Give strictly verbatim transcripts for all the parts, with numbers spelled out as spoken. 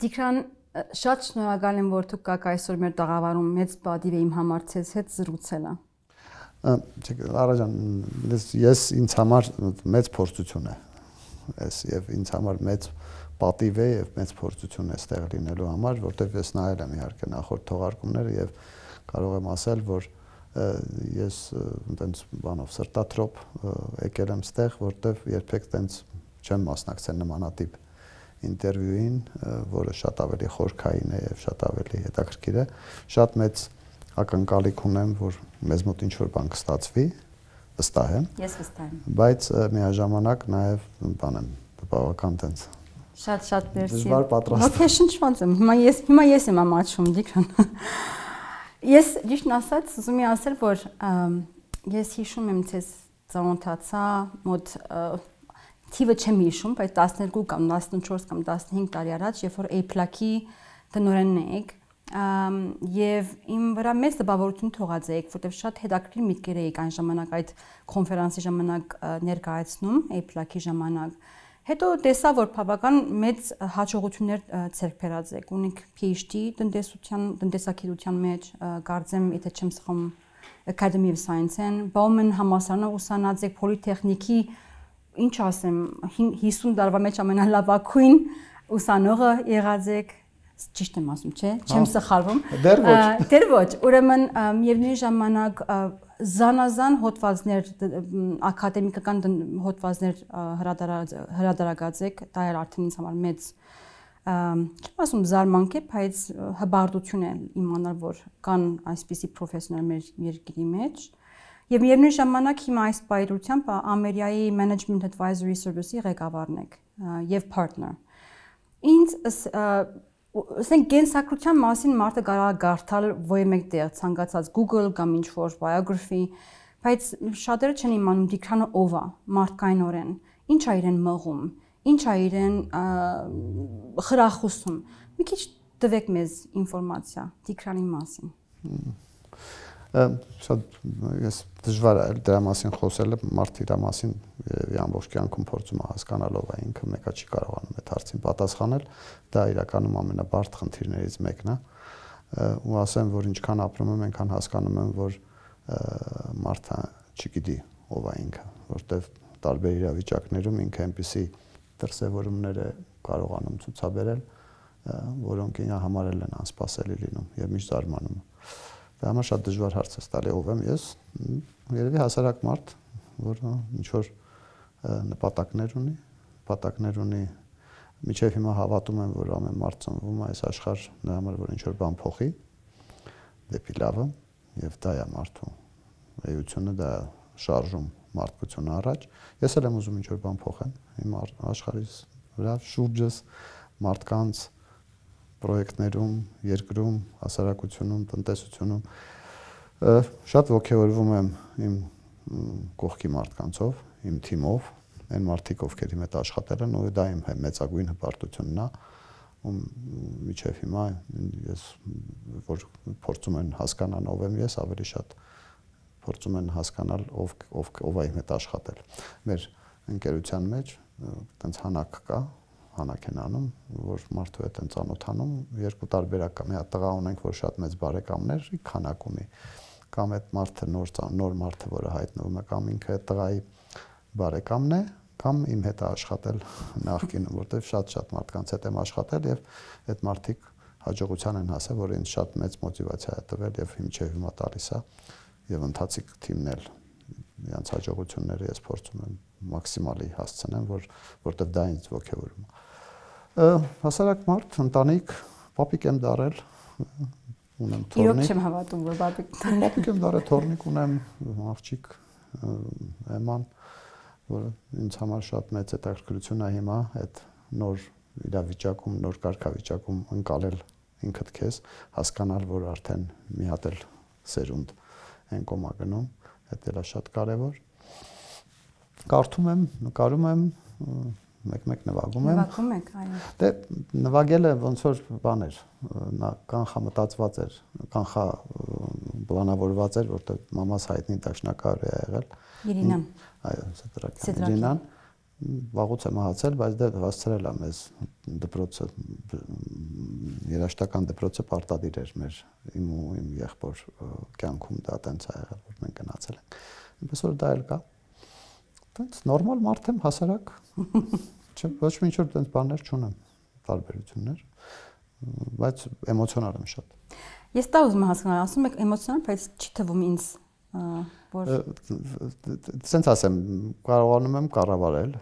Դիկրան շատ շնորհակալ եմ, որ դուք կաք այսօր մեր տաղավարում մեծ պատիվ է իմ համար ցեզ հետ զրուցելը։ Լարա ջան, ես ինձ համար մեծ փորձություն է։ Ես եւ ինձ համար մեծ պատիվ է եւ մեծ փորձություն է ստեղ լինելու համար, որտեղ ես նայել եմ իհարկե նախորդ թողարկումները եւ կարող եմ ասել, որ ես այնտենց բանով սրտատրոփ եկել եմ ստեղ, որտեղ երբեք այնտենց չեմ մասնակցել նմանատիպ ինտերվյուին, որը շատ ավելի խորքային է եւ շատ ավելի հետաքրքիր է։ Շատ մեծ ակնկալիք ունեմ, որ մեզ մոտ ինչ-որ բան կստացվի, վստահ եմ։ Ես վստահ եմ։ Բայց միաժամանակ նաեւ բան եմ, բավական տենց։ Շատ-շատ մերսի։ Դժվար պատրաստ։ Ոգեշնչված եմ։ Հիմա ես հիմա ես եմ ամաչում, Դիկրան։ Ես ճիշտն ասած, ուզում եմ ասել, որ ես հիշում եմ, ցես ծանոթացա մոտ թիվը չեմ հիշում, բայց տասներկու կամ տասնչորս կամ տասնհինգ տարի առաջ, երբ որ Apple-ի տնօրենն եք, եւ իմ վրա մեծ տպավորություն թողած եք, որտեղ շատ հետաքրքիր միտքեր եք այն ժամանակ այդ կոնֆերանսի ժամանակ ներկայացնում, Apple-ի ժամանակ։ Հետո տեսա, որ բավական մեծ հաջողություններ ցերկ բերած եք, ունեք PhD տնտեսության, տնտեսագիտության մեջ, կարծեմ, եթե չեմ սխալվում, Academy of Science-ն, Bauman համալսարանը ուսանած եք, Պոլիտեխնիկի, ինչ ասեմ, հիսուն տարվա մեջ ամենալավագույն ուսանողը եղած եք, ճիշտ եմ ասում, չէ՞, չեմ սխալվում։ Դեռ ոչ։ Դեռ ոչ, ուրեմն միևնույն ժամանակ զանազան հոդվածներ, ակադեմիկական հոդվածներ հրատարակած եք, դա էր արդեն ինձ համար մեծ, չեմ ասում զարմանք է, բայց հբարտություն է իմանալ, որ կան այսպիսի պրոֆեսիոնալ մեր երկրի մեջ։ Եվ միևնույն ժամանակ հիմա այս պայրությամբ Ամերիկայի Management Advisory Service-ի ղեկավարն եք եւ partner։ Ինձ ասենք գենսակրթության մասին մարդը կարող է գարթալ ոյ մեկտեղ ցանկացած Google կամ ինչ-որ biography, բայց շատերը չեն իմանում Դիկրանը ով է, մարդկայնորեն, ինչ է իրեն մղում, ինչ է իրեն խրախուսում։ Մի քիչ տվեք մեզ ինֆորմացիա Դիկրանի մասին։ Շատ ես դժվար է դրա մասին խոսելը, մարդը իր մասին ամբողջ կյանքում փորձում է հասկանալ ով է ինքը, մեկը չի կարողանում այդ հարցին պատասխանել, դա իրականում ամենաբարդ խնդիրներից մեկն է, ու ասեմ, որ ինչքան ապրում եմ, այնքան հասկանում եմ, որ մարդը չգիտի ով է ինքը, որտեղ տարբեր իրավիճակներում ինքը այնպիսի դրսևորումներ է կարողանում ցուցաբերել, որոնք ինքը համարել են անսպասելի լինում եւ միշտ զարմանում։ Դա համար շատ դժվար հարց է տալի ով եմ ես, երևի հասարակ մարդ, որ ինչ որ նպատակներ ունի, նպատակներ ունի, միջև հիմա հավատում եմ, որ ամեն մարդ ծնվում է այս աշխարհ նրա համար, որ ինչ որ բան փոխի, դեպի լավը, եւ դա է մարդու էությունը, դա շարժում մարդկությունը առաջ։ Ես էլ եմ ուզում ինչ որ բան փոխեմ իմ աշխարհիս վրա, շուրջս մարդկանց պրոյեկտներում, երկրում, հասարակությունում, տնտեսությունում շատ ոգևորվում եմ իմ կողքի մարդկանցով, իմ թիմով, այն մարդիկ, ովքեր իմ հետ աշխատել են, ու դա իմ մեծագույն հպարտությունն է, ում միջև հիմա ես որ փորձում են հասկանալ ով եմ ես, ավելի շատ փորձում են հասկանալ ով ով ով է իմ հետ աշխատել։ Մեր ընկերության մեջ այդպես հանակ կա, հանակ են անում, որ մարդու հետ են ծանոթանում, երկու տարբերակ կա, մի հատ տղա ունենք, որ շատ մեծ բարեկամներ, քանակ ունի, կամ այդ մարդը նոր նոր մարդը, որը հայտնվում է, կամ ինքը այդ տղայի բարեկամն է, կամ իմ հետ է աշխատել նախկինում, որտեղ շատ-շատ մարդկանց հետ եմ աշխատել եւ այդ մարդիկ հաջողության են հասել, որ ինձ շատ մեծ մոտիվացիա է տվել եւ հիմա հիմա տալիս է եւ ընթացիկ թիմն էլ իրենց հաջողությունները ես փորձում եմ մաքսիմալի հասցնեմ, որ որտեղ դա ինձ ոգևորում է։ Հասարակ մարդ, ընտանիք, պապիկ եմ դարել, ունեմ թորնիկ։ Իրոք չեմ հավատում, որ պապիկ պապիկ եմ դարել, թորնիկ ունեմ, աղջիկ Էման, որը ինձ համար շատ մեծ հետաքրքրություն է հիմա այդ նոր իրավիճակում, նոր կարգավիճակում ընկալել ինքդ քեզ, հասկանալ, որ արդեն մի հատ էլ սերունդ են կոմա գնում, դա էլ է շատ կարևոր։ Կարդում եմ, նկարում եմ, մեկ-մեկ նվագում եմ։ Նվագում եք, այո։ Դե նվագելը ոնց որ բան էր, նա կանխամտածված էր, կանխա պլանավորված էր, որտեղ մամաս հայտնի դաշնակահար է եղել։ Իրինան։ Այո, Սետրակյան։ Իրինան վաղուց եմ մահացել, բայց դե հասցրել եմ ես դպրոցը երաշտական դպրոցը պարտադիր էր մեր իմ ու իմ եղբոր կյանքում դա տենց ա եղել, որ մենք գնացել ենք։ Այնպես որ դա էլ կա։ Տենց նորմալ մարդ եմ, հասարակ։ Չէ, ոչ մի ինչ որ տենց բաներ չունեմ, տարբերություններ, բայց էմոցիոնալ եմ շատ։ Ես դա ուզում եմ հասկանալ, ասում եք էմոցիոնալ, բայց չի թվում ինձ որ սենց ասեմ, կարողանում եմ կառավարել,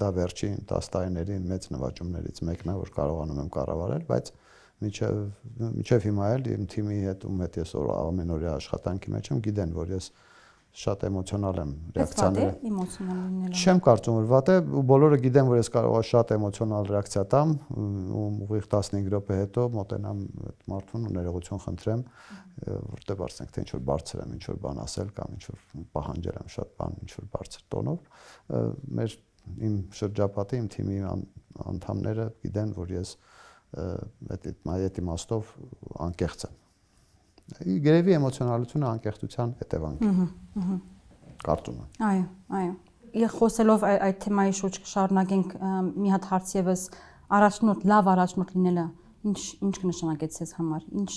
դա վերջին տասը տարիների մեծ նվաճումներից մեկն է, որ կարողանում եմ կառավարել, բայց միջև միջև հիմա էլ իմ թիմի հետ ում հետ ես ամենօրյա աշխատանքի մեջ եմ, գիտեն, որ ես շատ էմոցիոնալ եմ ռեակցիաները։ Էմոցիոնալ լինելը։ Չեմ կարծում որ վատ է, ու բոլորը գիտեն, որ ես կարող եմ շատ էմոցիոնալ ռեակցիա տամ, ու ուղիղ տասնհինգ րոպե հետո մոտենամ այդ մարդուն ու ներողություն խնդրեմ, որտեղ ասենք թե ինչ որ բարձր եմ, ինչ որ բան ասել կամ ինչ որ պահանջել եմ շատ բան, ինչ որ բարձր տոնով, մեր իմ շրջապատի, իմ թիմի անդամները գիտեն, որ ես այդ իմաստով անկեղծ եմ։ Գերեւի էմոցիոնալությունը անկեղծության հետևանք է։ Կարծում եմ։ Այո, այո։ Եվ խոսելով այդ թեմայի շուրջ շարունակենք մի հատ հարց եւս առաջնորդ, լավ առաջնորդ լինելը ինչ ինչ կնշանակեց ձեզ համար։ Ինչ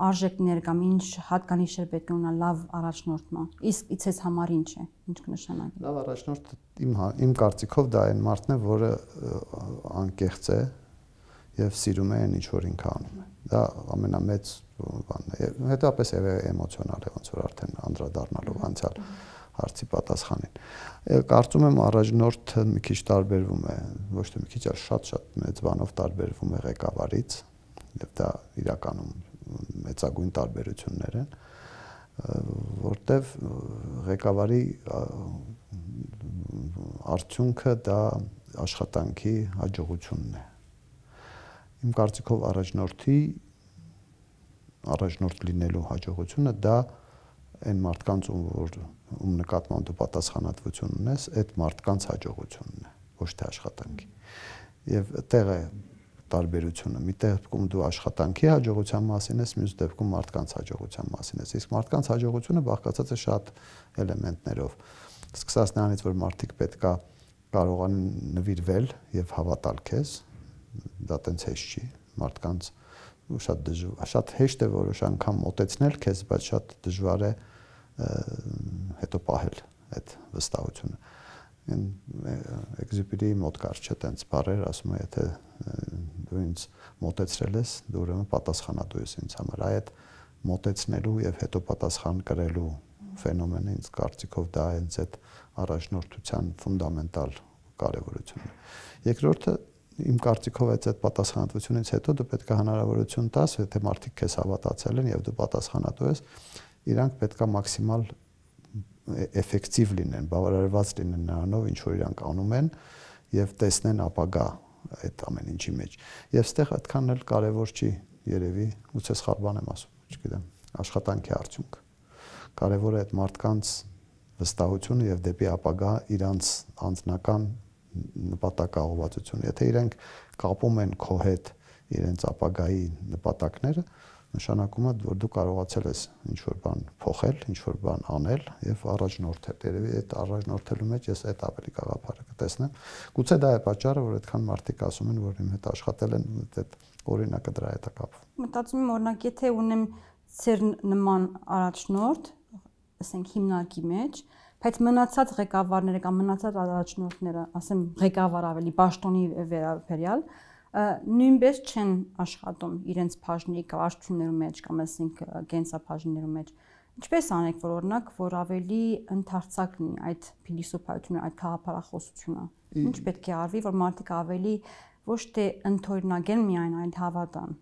արժեքներ կամ ինչ հատկանիշեր պետք է ունենա լավ առաջնորդը։ Իսկ իցես համար ինչ է, ինչ կնշանակի։ Լավ առաջնորդ իմ իմ կարծիքով դա այն մարդն է, որը անկեղծ է եւ սիրում է այն ինչ որ ինքը անում է։ Դա ամենամեծ բանն է։ Հետո է էմոցիոնալ է, ոնց որ արդեն անդրադառնալով անցյալ հարցի պատասխանին։ Կարծում եմ առաջնորդը մի քիչ տարբերվում է, ոչ թե մի քիչ, այլ շատ-շատ մեծ բանով տարբերվում է ղեկավարից, եւ դա իրականում մեծագույն տարբերություններ են, որտեվ ղեկավարի արդյունքը դա աշխատանքի հաջողությունն է։ Իմ կարծիքով առաջնորդի առաջնորդ լինելու հաջողությունը դա այն մարդկանց որ ում նկատմամբ դու պատասխանատվություն ունես, այդ մարդկանց հաջողությունն է, ոչ թե աշխատանքի։ Եվ այդտեղ է տարբերությունը։ Մի դեպքում դու աշխատանքի հաջողության մասին ես, մյուս դեպքում մարդկանց հաջողության մասին ես։ Իսկ մարդկանց հաջողությունը բաղկացած է շատ էլեմենտներով։ Սկսած նրանից, որ մարդիկ պետքա կարողանան նվիրվել եւ հավատալ քեզ, դա տենց հեշտ չի, մարդկանց շատ դժվար, շատ հեշտ է որոշ անգամ մոտեցնել քեզ, բայց շատ դժվար է հետո պահել այդ վստահությունը։ Էքզյուպերիի մոտ կար չէ տենց բառեր, ասում է, եթե դու ինձ մոտեցրել ես, դու ուրեմն պատասխանատու ես ինձ համար։ Այդ մոտեցնելու եւ հետո պատասխան կրելու ֆենոմենը ինձ կարծիքով դա է այդ առաջնորդության ֆունդամենտալ կարեւորությունն է։ Երկրորդը իմ կարծիքով այդ պատասխանատվությունից հետո դու պետք է հնարավորություն տաս, եթե մարդիկ քեզ հավատացել են եւ դու պատասխանատու ես, իրանք պետք է մաքսիմալ էֆեկտիվ լինեն, բավարարված լինեն նրանով, ինչ որ իրանք անում են եւ տեսնեն ապագա այդ ամեն ինչի մեջ։ Եվ այստեղ այդքան էլ կարեւոր չի երևի, գուցե սխալ բան եմ ասում, չգիտեմ, աշխատանքի արդյունք։ Կարեւոր է այդ մարդկանց վստահությունը եւ դեպի ապագա իրանց անձնական նպատակաուղղվածություն։ Եթե իրենք կապում են քո հետ իրենց ապագայի նպատակները, նշանակում է, որ դու կարողացել ես ինչ-որ բան փոխել, ինչ-որ բան անել եւ առաջնորդել։ Երևի այդ առաջնորդելու մեջ ես այդ ավելի գաղափարը կտեսնեմ։ Գուցե դա է պատճառը, որ այդքան մարդիկ ասում են, որ իմ հետ աշխատել են, այդ օրինակը դրա հետ է կապվում։ Մտածում եմ, օրինակ, եթե ունեմ ծեր նման առաջնորդ, ասենք հիմնարկի մեջ, բայց մնացած ղեկավարները կամ մնացած առաջնորդները, ասեմ ղեկավար ավելի պաշտոնի վերաբերյալ, նույնպես չեն աշխատում իրենց բաժնի կարգություններում մեջ կամ ասենք կենսաբաժիններում մեջ։ Ինչպես անեք, որ օրինակ, որ ավելի ընդարձակ լինի այդ փիլիսոփայությունը, այդ քաղաքապարախոսությունը։ Ինչ պետք է արվի, որ մարդիկ ավելի ոչ թե ընդօրինակեն միայն, այլ հավատան։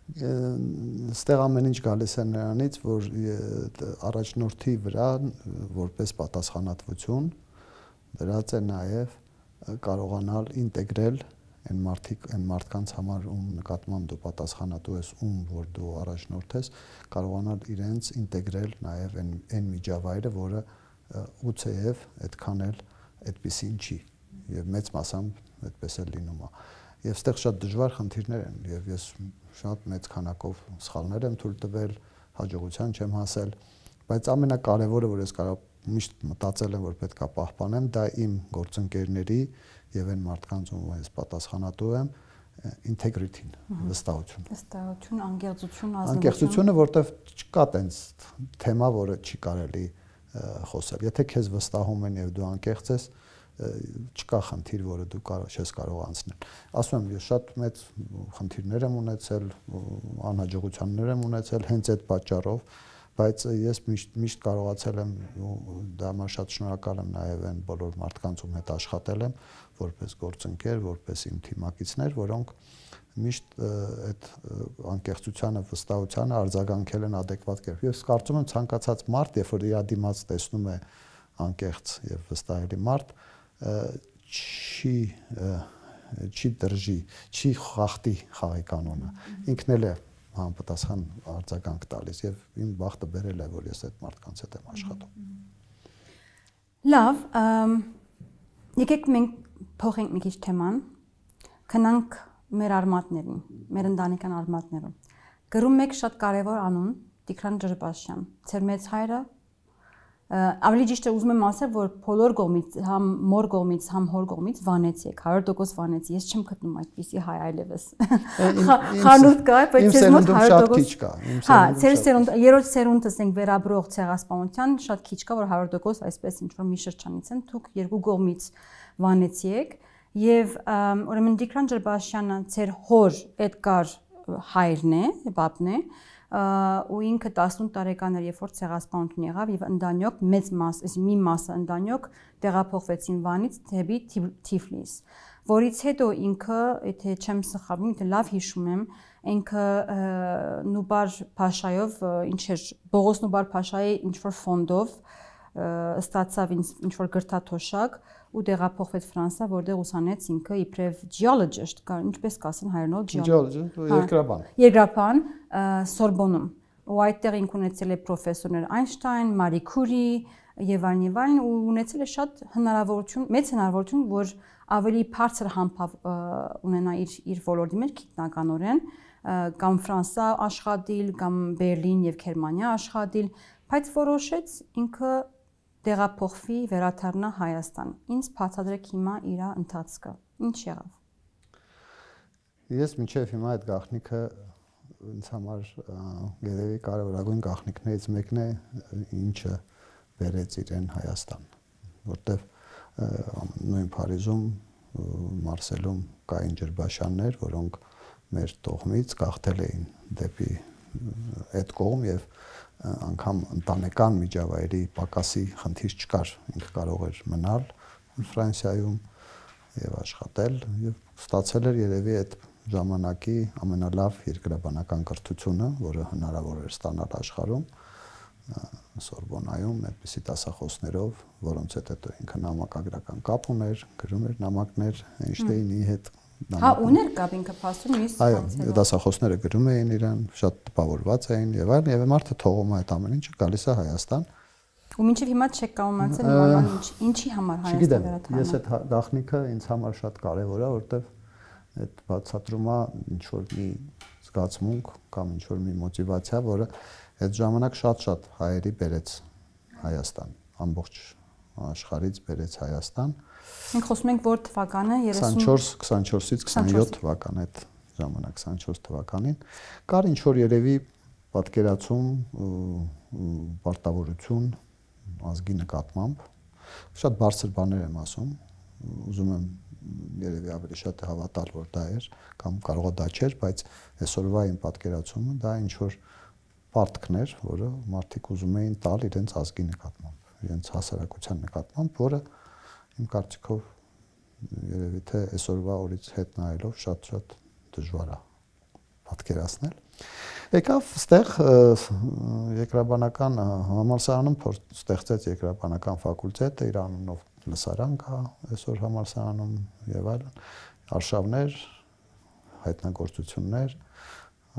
Ստեղ ամեն ինչ գալիս է նրանից, որ առաջնորդի վրա որպես պատասխանատվություն դրած է նաև կարողանալ ինտեգրել այն մարդիկ, այն մարդկանց համար, ում նկատմամբ դու պատասխանատու ես, ում որ դու առաջնորդ ես, կարողանալ իրենց ինտեգրել նաև այն այն միջավայրը, որը ուծեև այդքան էլ այդպեսին չի, եւ մեծ մասամբ այդպես էլ լինում է։ Եվ այստեղ շատ դժվար խնդիրներ են, եւ ես շատ մեծ քանակով սխալներ եմ թույլ տվել, հաջողության չեմ հասել, բայց ամենակարևորը, որ ես կարող միշտ մտածել եմ, որ պետք է պահպանեմ, դա իմ գործընկերների եւ այն մարդկանց, ում ես պատասխանատու եմ, integrity-ն, վստահություն։ Վստահություն, անկեղծություն, ազնվություն։ Անկեղծությունը, որտեվ չկա տենց թեմա, որը չի կարելի խոսել։ Եթե քեզ վստահում են եւ դու անկեղծ ես, չկա խնդիր, որը դու կարող չես կարող անցնել։ Ասում եմ, ես շատ մեծ խնդիրներ եմ ունեցել, անհաջողություններ եմ ունեցել հենց այդ պատճառով, բայց ես միշտ միշտ կարողացել եմ դա համար շատ շնորհակալ եմ նաև այն բոլոր մարդկանց, ում հետ աշխատել եմ, որպես գործընկեր, որպես իմ թիմակիցներ, որոնք միշտ այդ անկեղծությանը, վստահությանը արձագանքել են adekvat կերպ։ Ես կարծում եմ ցանկացած մարդ, երբ որ իր դիմաց տեսնում է անկեղծ եւ վստահելի մարդ, չի չի դրժի, չի խախտի խաղի կանոնը։ Ինքն էլ է համապատասխան արձագանք տալիս եւ իմ բախտը բերել է, որ ես այդ մարդկանց հետ եմ աշխատում։ Լավ, եկեք մենք փոխենք մի քիչ թեման, քնանք մեր արմատներին, մեր ընտանեկան արմատներում։ Գրում եք շատ կարևոր անուն Տիգրան Ջրբաշյան, ձեր մեծ հայրը, ավելի ճիշտ է ուզում եմ ասել, որ բոլոր կողմից, համ մոր կողմից, համ հոր կողմից վանեցի եք, հարյուր տոկոս վանեցի, ես չեմ գտնում այդպիսի հայ այլևս։ Խանութ կա, բայց ես մոտ հարյուր տոկոս կա։ Հա, ձեր սերունդ, երրորդ սերունդս ենք վերաբրող ցեղասպանության, շատ քիչ կա, որ հարյուր տոկոս այսպես ինչ որ մի շրջանից են, դուք երկու կողմից վանեցի եք, եւ ուրեմն Տիգրան Ջրբաշյանը ձեր հոր Էդգար հայրն է, բաբն է, ու ինքը տասնութ տարեկան էր, երբ որ ցեղասպանություն եղավ եւ ընդանյոք մեծ մաս, այսինքն մի մասը ընդանյոք տեղափոխվեցին Վանից դեպի Թիֆլիս, որից հետո ինքը, եթե չեմ սխալվում, եթե լավ հիշում եմ, ինքը Նուբար Փաշայով, ինչ էր, Բողոս Նուբար Փաշայի ինչ որ ֆոնդով ստացավ ինչ որ գրթաթոշակ ու տեղափոխվեց Ֆրանսա, որտեղ ուսանեց ինքը իբրև geologist, ինչպես կասեն հայերենով geologist, երկրաբան։ Երկրաբան Սորբոնում։ Ու այդտեղ ինք ունեցել է պրոֆեսորներ Այնշտայն, Մարի Քուրի եւ այլն եւ այլն, ու ունեցել է շատ հնարավորություն, մեծ հնարավորություն, որ ավելի բարձր համբավ ունենա իր իր ոլորտի մեջ գիտնականորեն, կամ Ֆրանսա աշխատել, կամ Բերլին եւ Գերմանիա աշխատել, բայց որոշեց ինքը տեղափոխվի վերադառնա Հայաստան։ Ինչ բացատրեք հիմա իր ընթացքը։ Ինչ եղավ։ Ես մինչև հիմա այդ գաղտնիքը ինձ համար երևի կարևորագույն գաղտնիքներից մեկն է, ինչը բերեց իրեն Հայաստան, որտեվ նույն Փարիզում, Մարսելում կային Ջրբաշյաններ, որոնք մեր տողմից գաղթել էին դեպի այդ կողմ եւ անգամ ընտանեկան միջավայրի պակասի խնդիր չկար, ինքը կարող էր մնալ Ֆրանսիայում եւ աշխատել եւ ստացել էր երևի այդ ժամանակի ամենալավ երկրաբանական կրթությունը, որը հնարավոր էր ստանալ աշխարհում, Սորբոնայում այդպիսի դասախոսներով, որոնց հետ հետո ինքը նամակագրական կապ ուներ, գրում էր նամակներ Էյնշտեյնի հետ։ Հա, ուներ կապ ինքը փաստում մյուս Այո, դասախոսները գրում էին իրան, շատ տպավորված էին եւ այլն, եւ մարդը թողում է այդ ամեն ինչը, գալիս է Հայաստան։ Ու մինչև հիմա չեք կարողացել իմանալ ինչ, ինչի համար Հայաստան վերադառնալ։ Ես այդ գաղտնիքը ինձ համար շատ կարևոր է, որովհետեւ այդ բացատրում է ինչ որ մի զգացմունք կամ ինչ որ մի մոտիվացիա, որը այդ ժամանակ շատ-շատ հայերի բերեց Հայաստան, ամբողջ աշխարհից բերեց Հայաստան։ Մենք խոսում ենք որ թվականը քսանչորս քսանչորսից քսանյոթ թվական այդ ժամանակ քսանչորս թվականին կար ինչ որ երևի պատկերացում պարտավորություն ազգի նկատմամբ շատ բարձր բաներ եմ ասում ուզում եմ երևի ավելի շատ հավատալ որ դա էր կամ կարող է դա չէր բայց այսօրվա իմ պատկերացումը դա ինչ որ պարտքներ որը մարդիկ ուզում էին տալ իրենց ազգի նկատմամբ իրենց հասարակության նկատմամբ որը իմ կարծիքով երևի թե այսօրվա օրից հետ նայելով շատ-շատ դժվար է պատկերացնել։ Եկավ ստեղ երկրաբանական համալսարանում ստեղծեց երկրաբանական ֆակուլտետը, իր անունով լսարան կա այսօր համալսարանում եւ այլն, արշավներ, հայտնագործություններ,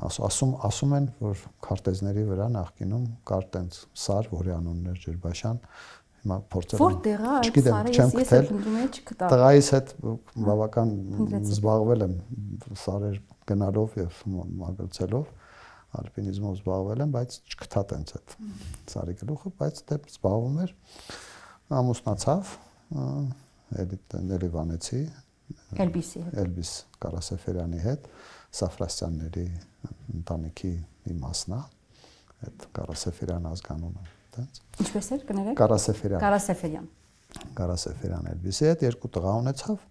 ասում ասում են, որ քարտեզների վրա նախկինում կար տենց սար, որի անունն էր Ջրբաշյան, հիմա փորձել եմ որտեղ է այդ սարը, ես ես ընդունում եմ չգտա։ Տղայիս հետ բավական զբաղվել եմ սարեր գնալով եւ մագլցելով, ալպինիզմով զբաղվել եմ, բայց չգտա տենց այդ սարի գլուխը, բայց դե զբաղվում էր, ամուսնացավ, էլի վանեցի, Էլբիսի հետ, Էլբիս Կարասեֆերյանի հետ, Սաֆրասյանների ընտանիքի մի մասնա, այդ Կարասեֆերյան ազգանունը, տենց։ Ինչպես էր կներեք։ Կարասեֆերյան։ Կարասեֆերյան։ Կարասեֆերյան Էլբիսի հետ երկու տղա ունեցավ,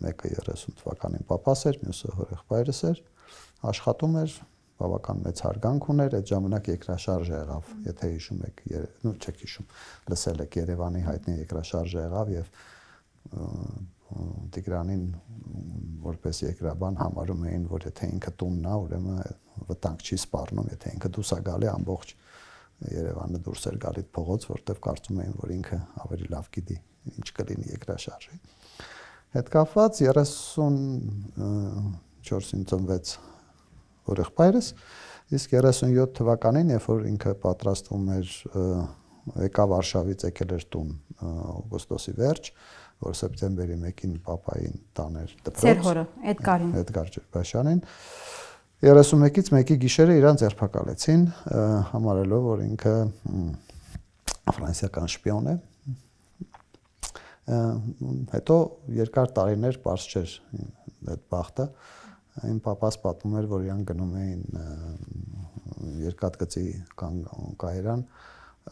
մեկը երեսուն թվականին պապաս էր, մյուսը հորեղբայրս էր, աշխատում էր, բավական մեծ հարգանք ուներ, այդ ժամանակ երկրաշարժ եղավ, եթե հիշում եք, նո չեք հիշում, լսել եք Երևանի հայտնի երկրաշարժը եղավ եւ Տիգրանին որպես երկրաբան համարում էին, որ եթե ինքը տունն է, ուրեմն վտանգ չի սպառնում, եթե ինքը դուրս է գալի ամբողջ Երևանը դուրս էր գալի փողոց, որտեղ կարծում էին, որ ինքը ավելի լավ գիտի ինչ կլինի երկրաշարժի։ Հետ կապված երեսուն չորսին ծնվեց հորեղբայրս, իսկ երեսունյոթ թվականին, երբ որ ինքը պատրաստվում էր եկավ Վարշավից եկել էր տուն օգոստոսի վերջ, որ սեպտեմբերի մեկին պապային տաներ դպրոց։ Ձեր հորը, Էդգարին։ Էդգար Ջերբաշյանին երեսունմեկից մեկի գիշերը իրան ձերբակալեցին, համարելով, որ ինքը ֆրանսիական շպիոն է։ Հետո երկար տարիներ պարզ չէր այդ բախտը։ Իմ պապաս պատմում էր, որ իրան գնում էին երկաթգծի կայարան,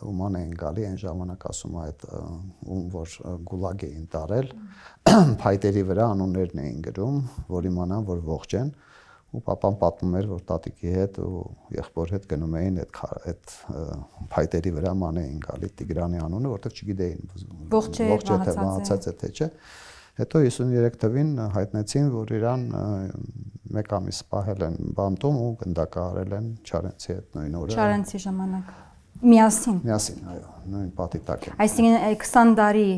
ուման էին գալի, այն ժամանակ ասում է այդ ում որ գուլագ էին տարել, փայտերի վրա անուններն էին գրում, որ իմանան, որ ողջ են, ու պապան պատմում էր, որ տատիկի հետ ու եղբոր հետ գնում էին այդ այդ փայտերի վրա ման էին գալի Տիգրանի անունը, որտեղ չգիտեին ողջ է, մահացած է թե չէ։ Հետո հիսուններեք թվին հայտնեցին, որ իրան մեկ ամիս սպահել են բանտում ու գնդակահարել են Չարենցի հետ նույն օրը։ Չարենցի ժամանակ։ Միասին։ Միասին, այո, նույն պատի տակ են։ Այսինքն քսան տարի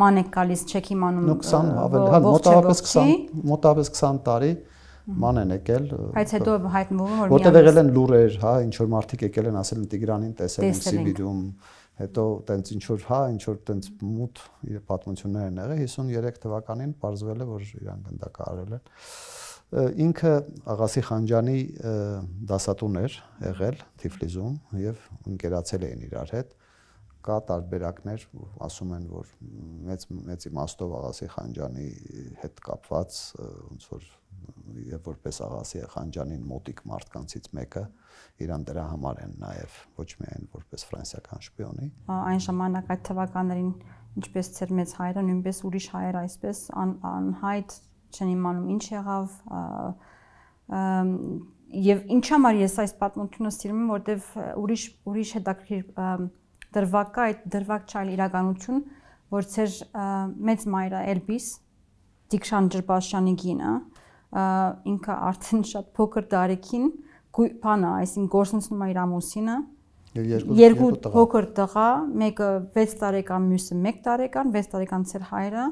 ման եք գալիս, չեք իմանում։ Նու քսան ավելի, հա, մոտավորապես քսան, մոտավորապես քսան տարի ման են եկել։ Բայց հետո հայտնվում որ որտեղ եղել են լուրեր, հա, ինչ որ մարդիկ եկել են ասել են Տիգրանին տեսել են Սիբիրում, հետո տենց ինչ որ, հա, ինչ որ տենց մութ իր պատմություններ են եղել, հիսուներեք թվականին պարզվել է, որ իրան գնդակահարել են։ Ինքը Աղասի Խանջյանի դասատուն էր եղել Թիֆլիսում եւ ընկերացել էին իրար հետ։ Կա տարբերակներ, ասում են, որ մեծ մեծ իմաստով Աղասի Խանջյանի հետ կապված ոնց որ եւ որպես Աղասի Խանջյանին մոտիկ մարդկանցից մեկը իրան դրա համար են նաեւ ոչ միայն որպես ֆրանսիական շպիոնի։ Այն ժամանակ այդ թվականներին ինչպես ծեր մեծ հայրը, նույնպես ուրիշ հայեր այսպես անհայտ չեն իմանում ինչ եղավ եւ ինչ համար ես այս պատմությունը սիրում եմ, որտեվ ուրիշ ուրիշ հետաքրքիր դրվակ է, այդ դրվակ չայլ իրականություն, որ ծեր մեծ մայրը Էլբիս Տիգրան Ջերբաշյանի գինը ինքը արդեն շատ փոքր տարիքին բանը, այսինքն գործունեություն իր ամուսինը երկու փոքր տղա, մեկը վեց տարեկան, մյուսը մեկ տարեկան, վեց տարեկան ծեր հայրը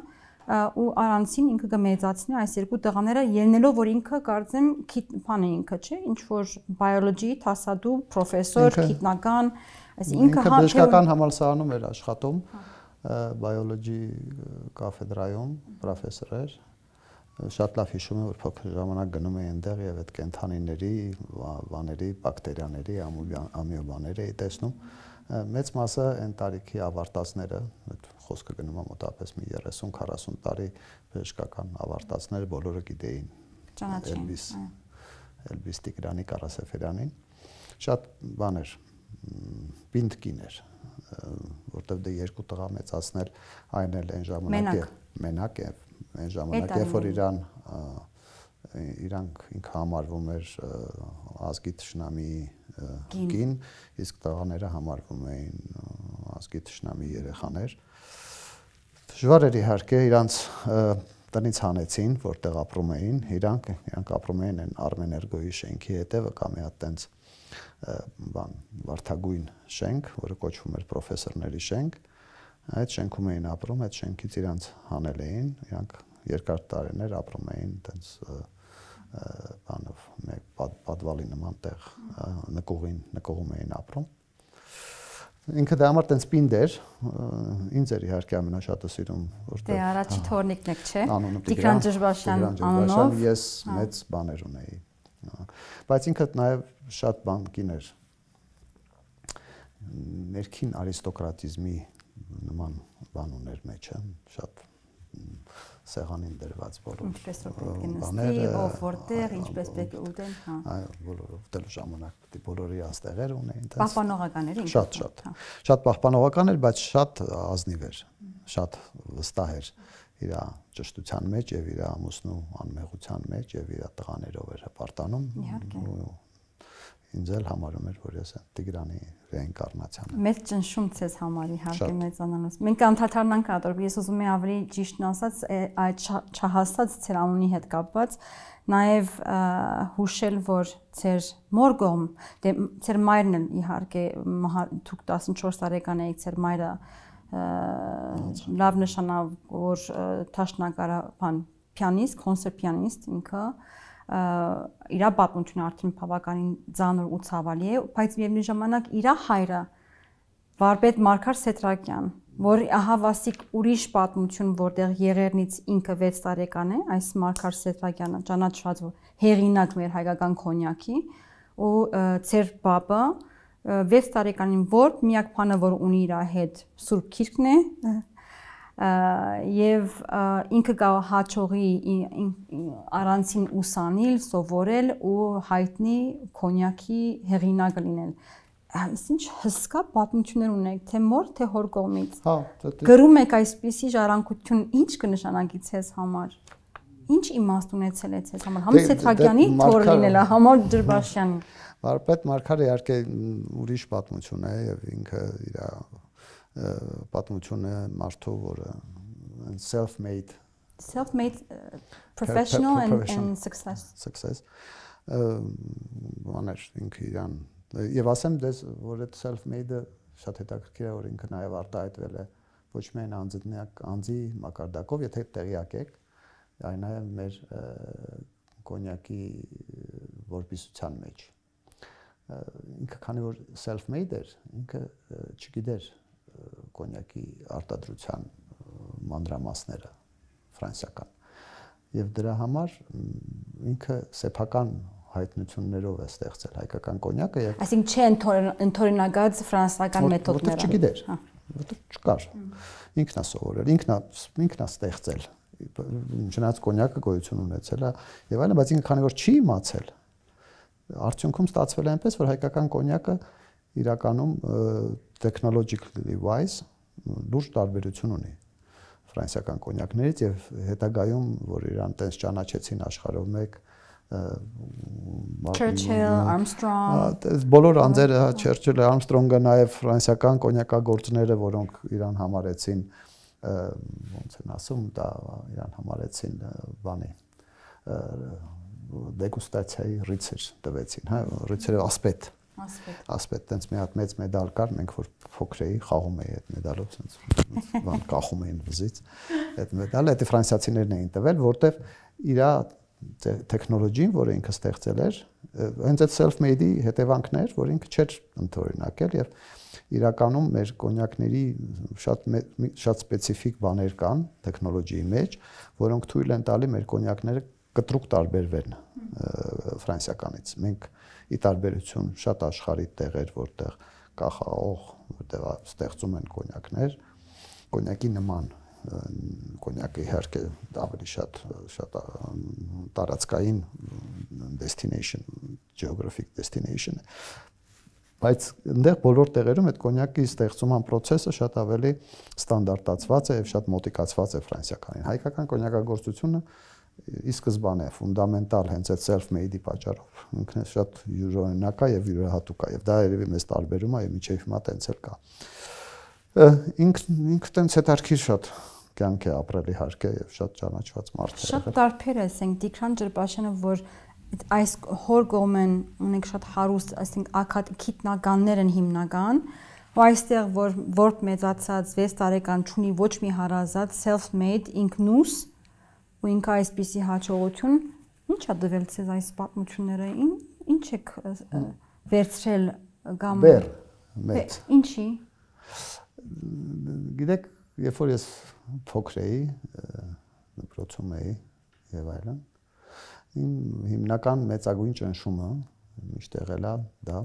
ու առանցին ինքը կմեծացնի այս երկու տղաները ելնելով որ ինքը կարծեմ բան է ինքը, չէ, ինչ որ բիոլոգի դասադու պրոֆեսոր, գիտնական, այսինքն ինքը բժշկական համալսարանում էր աշխատում, բիոլոգի կաֆեդրայում պրոֆեսոր էր, շատ լավ հիշում եմ, որ փոքր ժամանակ գնում էի այնտեղ եւ այդ կենթանիների, բաների, բակտերիաների, ամիոբաների էի տեսնում, մեծ մասը այն տարիքի ավարտածները, այդ խոսքը գնում է մոտավորապես մի երեսուն քառասուն տարի բժշկական ավարտածները բոլորը գիտեին Էլբիս Էլբիս Տիգրանի Կարասեֆերյանին, շատ բաներ պինդ կին էր, որտեղ դե երկու տղա մեծացնել այն էլ այն ժամանակ է մենակ է այն ժամանակ երբ որ իրան իրանք ինքը համարվում էր ազգի թշնամի կին, իսկ տղաները համարվում էին ազգի թշնամի երեխաներ։ Դժվար էր իհարկե իրանց տնից հանեցին, որտեղ ապրում էին, իրանք իրանք ապրում էին այն Արմեներգոյի շենքի հետևը կամ մի հատ տենց բան վարդագույն շենք, որը կոչվում էր պրոֆեսորների շենք, այդ շենքում էին ապրում, այդ շենքից իրանց հանել էին, իրանք երկար տարիներ ապրում էին տենց բանով մեկ պատվալի նման տեղ նկուղին նկուղում էին ապրում։ Ինքը դա համար տենց պինդ էր, ինձ էր իհարկե ամենաշատը սիրում, որտեղ դե առաջի թորնիկն եք, չէ։ Տիգրան Ջերբաշյան անունով ես մեծ բաներ ունեի։ Բայց ինքը նաև շատ բան կիներ ներքին արիստոկրատիզմի նման բան ուներ մեջը, շատ սեղանին դրված բոլոր ինչպես որ պետք է նստի, ով որտեղ, ինչպես պետք է ուտեն, հա։ Այո, բոլորը ուտելու ժամանակ պետք է բոլորի աստեղեր ունեին, այդպես։ Պահպանողական էր ինքը։ Շատ, շատ։ Շատ պահպանողական էր, բայց շատ ազնիվ էր, շատ վստահ էր իր ճշտության մեջ եւ իր ամուսնու անմեղության մեջ եւ իր տղաներով էր հպարտանում։ Իհարկե։ Ինձ էլ համարում էր, որ ես Տիգրանի ռեինկարնացիան եմ։ Մեծ ճնշում ցես համար իհարկե մեծանալուց։ Մենք անդադարնանք կատարում, ես ուզում եմ ավելի ճիշտն ասած, այդ չհասած ցեր անունի հետ կապված, նաև հուշել, որ ցեր մորգոմ, դե ցեր մայրն էլ իհարկե դուք տասնչորս տարեկան էիք, ցեր մայրը լավ նշանավ, որ թաշնակարա բան պիանիստ, կոնցերտ պիանիստ ինքը իր պատմությունը արդեն բավականին ծանր ու ցավալի է, բայց միևնույն ժամանակ իր հայրը վարպետ Մարգար Սետրակյան, որ ահա վասիկ ուրիշ պատմություն, որտեղ Եղեռնից ինքը վեց տարեկան է, այս Մարգար Սետրակյանը ճանաչված հեղինակ մեր հայկական կոնյակի, ու ծեր բաբը վեց տարեկանին որ միակ բանը, որ ունի իր հետ Սուրբ Գիրքն է, եւ ինքը գա հաճողի առանցին ուսանիլ, սովորել ու հայտնի կոնյակի հեղինակը լինել։ Ինչ հսկա պատմություններ ունեք, թե մոր, թե հոր կողմից։ Հա, գրում եք այսպիսի ժառանգություն, ինչ կնշանակի ցես համար։ Ինչ իմաստ ունեցել է ցես համար։ Համ Սեթրակյանի թոր լինելա, համար Ջրբաշյանի։ Վարպետ Մարգարը իհարկե ուրիշ պատմություն է եւ ինքը իր պատմությունը մարդու, որը self-made self-made professional and, and success success բաներ ինքը իրան եւ ասեմ դες որ այդ self-made-ը շատ հետաքրքիր է, որ ինքը նաեւ արտահայտվել է ոչ միայն անձնակ անձի մակարդակով, եթե տեղյակ եք, այլ նաեւ մեր կոնյակի որբիսության մեջ ինքը քանի որ self-made էր, ինքը չգիտեր կոնյակի արտադրության մանրամասները ֆրանսիական եւ դրա համար ինքը սեփական հայտնություններով է ստեղծել հայկական կոնյակը եւ այսինքն չէ ընդօրինակած ֆրանսիական մեթոդները չգիտեր որտեղ չկար ինքնա սովորել ինքնա ինքնա ստեղծել չնայած կոնյակը գոյություն ունեցել է եւ այլն բայց ինքը քանի որ չի իմացել արդյունքում ստացվել է այնպես որ հայկական կոնյակը իրականում technologically wise լուրջ տարբերություն ունի ֆրանսիական կոնյակներից եւ հետագայում որ իրան տես ճանաչեցին աշխարհով մեկ Churchill, Armstrong բոլոր անձերը Churchill-ը, Armstrong-ը նաեւ ֆրանսիական կոնյակագործները, որոնք իրան համարեցին ոնց են ասում, դա իրան համարեցին բանի դեգուստացիայի ռիցեր տվեցին, հա, ռիցերը ասպետ ասպետ տենց մի հատ մեծ մեդալ կար, մենք որ փոքր էի, խաղում էի այդ մեդալով, sense բան կախում էին վզից։ Այդ մեդալը դա ֆրանսիացիներն էին տվել, որտեվ իր տեխնոլոգին, որը ինքը ստեղծել էր, հենց այդ self-made-ի հետևանքն էր, որ ինքը չէր ընդօրինակել եւ իրականում մեր կոնյակների շատ շատ սպეციფიկ բաներ կան տեխնոլոգիի մեջ, որոնք թույլ են տալի մեր կոնյակները կտրուկ տարբերվեն ֆրանսիականից։ Մենք ի տարբերություն շատ աշխարհի տեղեր, որտեղ կա խաղող, որտեղ ստեղծում են կոնյակներ, կոնյակի նման կոնյակը իհարկե ավելի շատ շատ տարածքային destination, geographic destination է, բայց այնտեղ բոլոր տեղերում այդ կոնյակի ստեղծման process-ը շատ ավելի ստանդարտացված է եւ շատ մոտիկացված է ֆրանսիականին։ Հայկական կոնյակագործությունը ի սկզբանե ֆունդամենտալ հենց այդ self-made-ի պատճառով ինքն է շատ յուրօրինակ է եւ յուրահատուկ է եւ դա երևի մեզ տարբերում է եւ միջև հիմա տենց էլ կա ինք ինքը տենց հետարքիր շատ կյանք է ապրել իհարկե եւ շատ ճանաչված մարդ է շատ տարբեր է ասենք Տիգրան Ջրբաշյանը որ այս հոր գոմեն ունենք շատ հարուստ ասենք ակադեմիականներ են հիմնական ու այստեղ որ որբ մեծացած վեց տարեկան չունի ոչ մի հարազատ self-made ինքնուս ու ինքը այսպիսի հաջողություն ի՞նչ է դվել ցեզ այս պատմությունները ի՞նչ եք վերցրել կամ բեր մեծ ինչի գիտեք երբ որ ես փոքր էի դպրոցում էի եւ այլն հիմնական մեծագույն ճնշումը միշտ եղել է դա,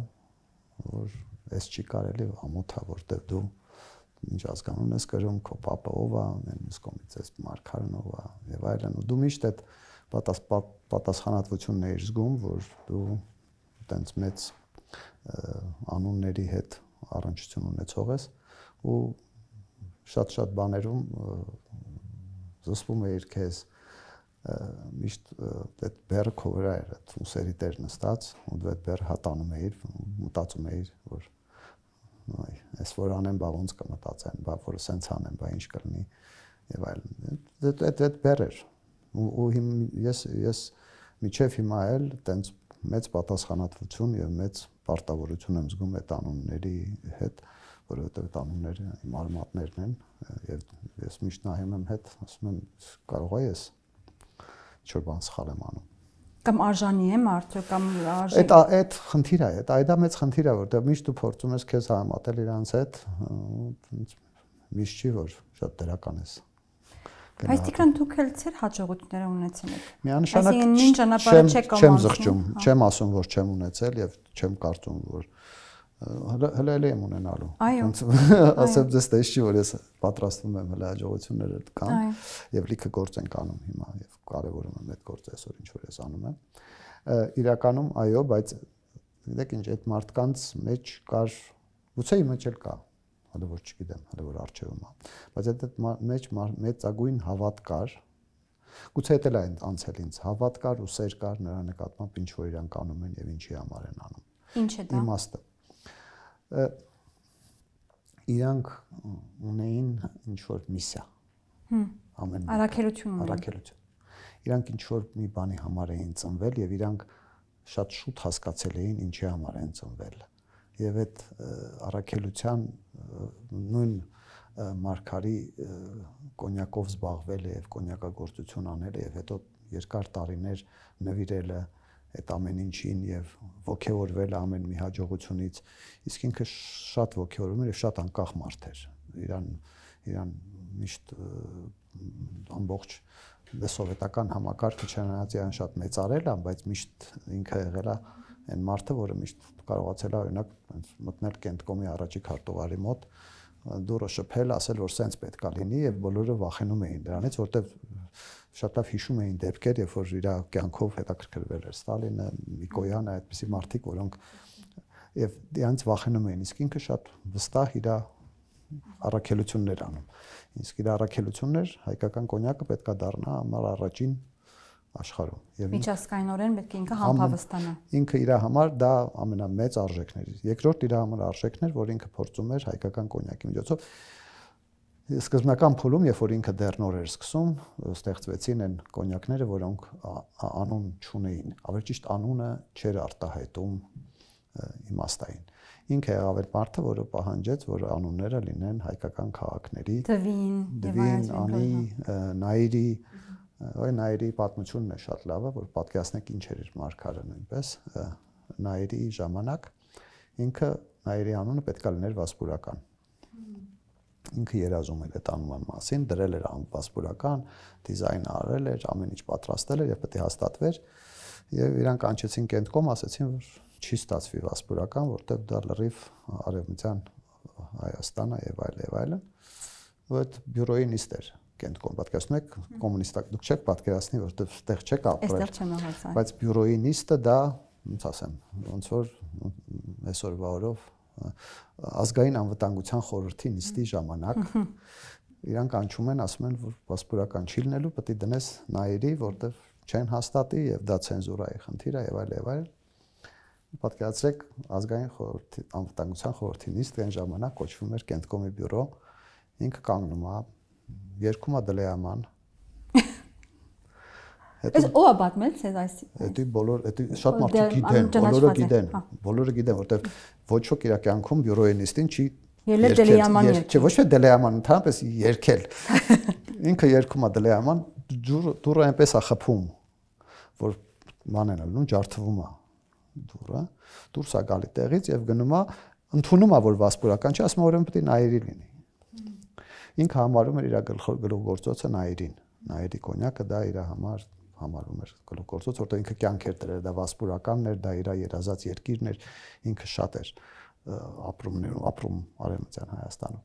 որ այս չի կարելի ամոթա, որտեղ դու ինչ ազգանուն ես կրում, քո պապը ով է, մյուս կողմից ես մարգարեն ով է եւ այլն, ու դու միշտ այդ պատասխանատվությունն ես զգում, որ դու տենց մեծ անունների հետ առնչություն ունեցող ես ու շատ-շատ բաներում զսպում էիր քեզ միշտ այդ բերը քո վրա էր, այդ ուսերի տեր նստած, ու դու այդ բերը հատանում էիր, մտածում էիր, որ այ, այս որ անեմ, բա ոնց կմտածեն, բա որ սենց անեմ, բա ինչ կլինի եւ այլն։ Այդ այդ բեր էր։ Ու ես ես միջև հիմա էլ տենց մեծ պատասխանատվություն եւ մեծ պարտավորություն եմ զգում այդ անունների հետ, որովհետեւ այդ անունները իմ արմատներն են եւ ես միշտ նայում եմ հետ, ասում եմ կարող է ես ինչ-որ բան սխալ եմ անում։ Կամ արժանի եմ արդյոք կամ արժի։ Այդ այդ խնդիր է, այդ այդա մեծ խնդիր է, որտեղ միշտ դու փորձում ես քեզ համատել իրանց հետ, միշտ չի որ շատ դրական ես։ Բայց Տիգրան դուք էլ ծեր հաջողությունները ունեցել եք։ Միանշանակ նույն ճանապարհը չեք չեմ զղջում, չեմ ասում որ չեմ ունեցել եւ չեմ կարծում որ հələ հələ եմ ունենալու։ Ասեմ ձեզ թե չի որ ես պատրաստվում եմ հələ հաջողությունները կան եւ լիքը գործ ենք անում հիմա եւ կարեւորում եմ այդ գործը այսօր ինչ որ ես անում եմ։ Իրականում այո, բայց գիտեք ինչ այդ մարդկանց մեջ կար գուցե իմ մեջ էլ կա, հələ որ չգիտեմ, հələ որ արժևում է, բայց այդ մեջ մեծագույն հավատ կար։ Գուցե դա էլ անցել ինձ հավատ կար ու սեր կար նրա նկատմամբ ինչ որ իրանք անում են եւ ինչի համար են անում։ Ինչ է դա։ Իմաստը իրանք ունեին ինչ որ միսիա։ Ամեն առաքելություն ունեն։ Առաքելություն։ Իրանք ինչ որ մի բանի համար էին ծնվել եւ իրանք շատ շուտ հասկացել էին ինչի համար են ծնվել։ Եվ այդ առաքելության նույն մարգարի կոնյակով զբաղվել է եւ կոնյակագործություն անել է եւ հետո երկար տարիներ նվիրել է այդ ամեն ինչին եւ ողջորվել ամեն մի հաջողությունից, իսկ ինքը շատ ողջորվում էր եւ շատ անկախ մարդ էր։ Իրան իրան միշտ ամբողջ սովետական համակարգը չնայած իրան շատ մեծարել է, բայց միշտ ինքը եղել է այն մարդը, որը միշտ կարողացել է օրինակ մտնել Կենտկոմի առաջի քարտուղարի մոտ, դուրը շփել, ասել որ սենց պետք է լինի եւ բոլորը վախենում էին դրանից, որտեվ շատ լավ հիշում էին դեպքեր, երբ որ իր կյանքով հետաքրքրվել էր Ստալինը, Նիկոյանը, այդպիսի մարդիկ, որոնք եւ դրանից վախենում էին, իսկ ինքը շատ վստահ իր առաքելություններ անում։ Իսկ իր առաքելություններ հայկական կոնյակը պետք է դառնա համար առաջին աշխարհում։ Եվ միջազգայինորեն պետք է ինքը համբավստանա։ Ինքը իր համար դա ամենամեծ արժեքն էր։ Երկրորդ իր համար արժեքն էր, որ ինքը փորձում էր հայկական կոնյակի միջոցով սկզբնական փուլում, երբ որ ինքը դեռ նոր էր սկսում, ստեղծվեցին այն կոնյակները, որոնք անուն չունեին։ Ավելի ճիշտ անունը չէր արտահայտում իմաստային։ Ինքը եղավ այդ մարդը, որը պահանջեց, որ անունները լինեն հայկական քաղաքների Դվին, Դվին, Անի, Նայիրի, Այ Նայիրի պատմությունն է շատ լավը, որ պատկերացնեք ինչ էր մարգարը նույնպես Նայիրի ժամանակ ինքը Նայիրի անունը պետք է լիներ վասպուրական։ Ինքը երազում էր այդ անունի մասին, դրել էր վասպուրական, դիզայն արել էր, ամեն ինչ պատրաստել էր եւ պետք է հաստատվեր եւ իրանք կանչեցին Կենտկոմ, ասացին որ չի ստացվի վասպուրական, որտեղ դա լրիվ արևմտյան Հայաստանը եւ այլ եւ այլն։ Ու այդ բյուրոյի նիստ էր Կենտկոմ, պատկերացնում եք, կոմունիստակ դուք չեք պատկերացնի, որտեղ ստեղ չեք ապրել։ Այստեղ չեմ ահացա։ Բայց բյուրոյի նիստը դա, ոնց ասեմ, ոնց որ այսօրվա օրով ազգային անվտանգության խորհրդի նիստի ժամանակ իրանք անչում են, ասում են, որ վասպուրական չի լինելու, պետք է դնես Նայիրի, որտեղ չեն հաստատի եւ դա ցենզուրայի խնդիր է եւ այլ եւ այլ։ Պատկերացրեք, ազգային խորհրդի անվտանգության խորհրդի նիստ այն ժամանակ կոչվում էր Կենտկոմի բյուրո, ինքը կանգնում է, երկում է դլեաման։ Այս ո՞ա պատմել ցեզ այս։ Դա բոլոր, դա շատ մարդիկ գիտեն, բոլորը գիտեն, բոլորը գիտեն, որտեղ ոչ ոք իր կյանքում բյուրոյի նիստին չի ելել դլեաման երգել։ Չէ, ոչ թե դլեաման, ընդհանրապես երգել։ Ինքը երգում է դլեաման, դուրը այնպես է խփում, որ մանեն ալնում, ջարդվում է դուրը, դուրս է գալի տեղից եւ գնում է, ընդունում է որ վասպուրական չի, ասում է ուրեմն պետք է Նայիրի լինի։ Ինքը համարում էր իր գլխավոր գործոցը Նայիրին։ Նայիրի կոնյակը դա իր համար համարվում էր գլուխգործոց, որտեղ ինքը կյանք էր դրել, դա վասպուրականն էր, դա իր երազած երկիրն էր, ինքը շատ էր ապրումներում, ապրում Արևմտյան Հայաստանում։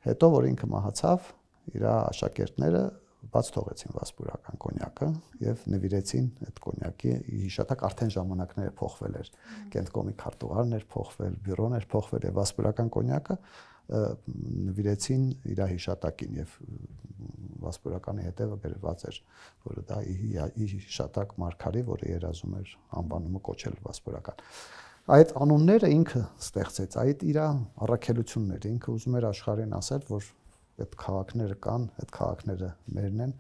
Հետո որ ինքը մահացավ, իր աշակերտները բաց թողեցին վասպուրական կոնյակը եւ նվիրեցին այդ կոնյակի հիշատակ, արդեն ժամանակները փոխվել էր, կենտկոմի քարտուղարն էր փոխվել, բյուրոն էր փոխվել եւ վասպուրական կոնյակը նվիրեցին իր հիշատակին եւ վասպուրականի հետևը գրված էր, որը դա հիշատակ մարգարի, որը երազում էր անվանումը կոչել վասպուրական։ Այդ անունները ինքը ստեղծեց, այդ իր առաքելությունն էր, ինքը ուզում էր աշխարհին ասել, որ այդ քաղաքները կան, այդ քաղաքները մերն են,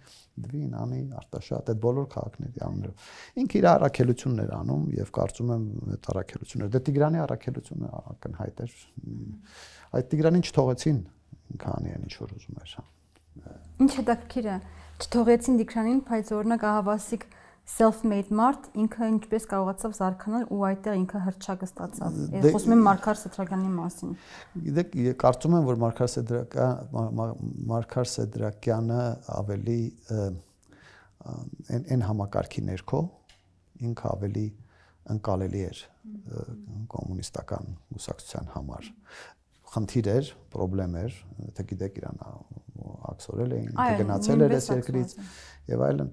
Դվին, Անի, Արտաշատ, այդ բոլոր քաղաքների անուններով։ Ինքը իր առաքելությունն էր անում եւ կարծում եմ այդ առաքելությունը, դե Տիգրանի առաքելությունը ակնհայտ էր։ Այդ Տիգրանին չթողեցին, ինքը անի այն ինչ որ ուզում էր։ Ինչ հետաքրքիր է, չթողեցին Տիգրանին, բայց օրինակ ահավասիկ self-made մարդ ինքը ինչպես կարողացավ զարգանալ ու այդտեղ ինքը հրճակը ստացավ։ Ես խոսում եմ Մարգար Սեդրակյանի մասին։ Գիտեք, կարծում եմ, որ Մարգար Սեդրակյանը Մարգար Սեդրակյանը ավելի այն համակարգի ներքո ինքը ավելի ընկալելի էր կոմունիստական կուսակցության համար։ Խնդիր էր, խնդրեմ էր, թե գիտեք իրան աքսորել էին, թե գնացել էր այս երկրից եւ այլն,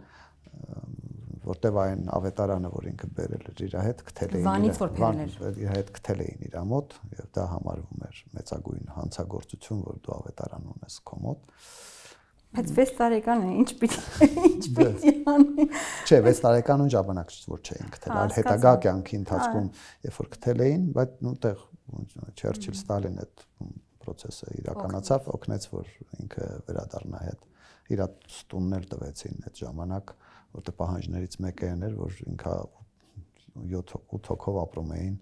որտեւ այն ավետարանը, որ ինքը բերել էր իր հետ, գտել էին իր հետ գտել էին իր մոտ եւ դա համարվում էր մեծագույն հանցագործություն, որ դու ավետարան ունես քո մոտ։ Բայց վեց տարեկան է, ինչ պիտի ինչ պիտի անի։ Չէ, վեց տարեկանուն ժամանակ որ չէին գտել, այլ հետագա կյանքի ընթացքում, երբ որ գտել էին, բայց նույնտեղ Չերչիլ Ստալին այդ process-ը իրականացավ, օգնեց, որ ինքը վերադառնա հետ։ Իր տունն էլ տվեցին այդ ժամանակ, որտեղ պահանջներից մեկը էր, որ ինքը ութ հոգով ապրում էին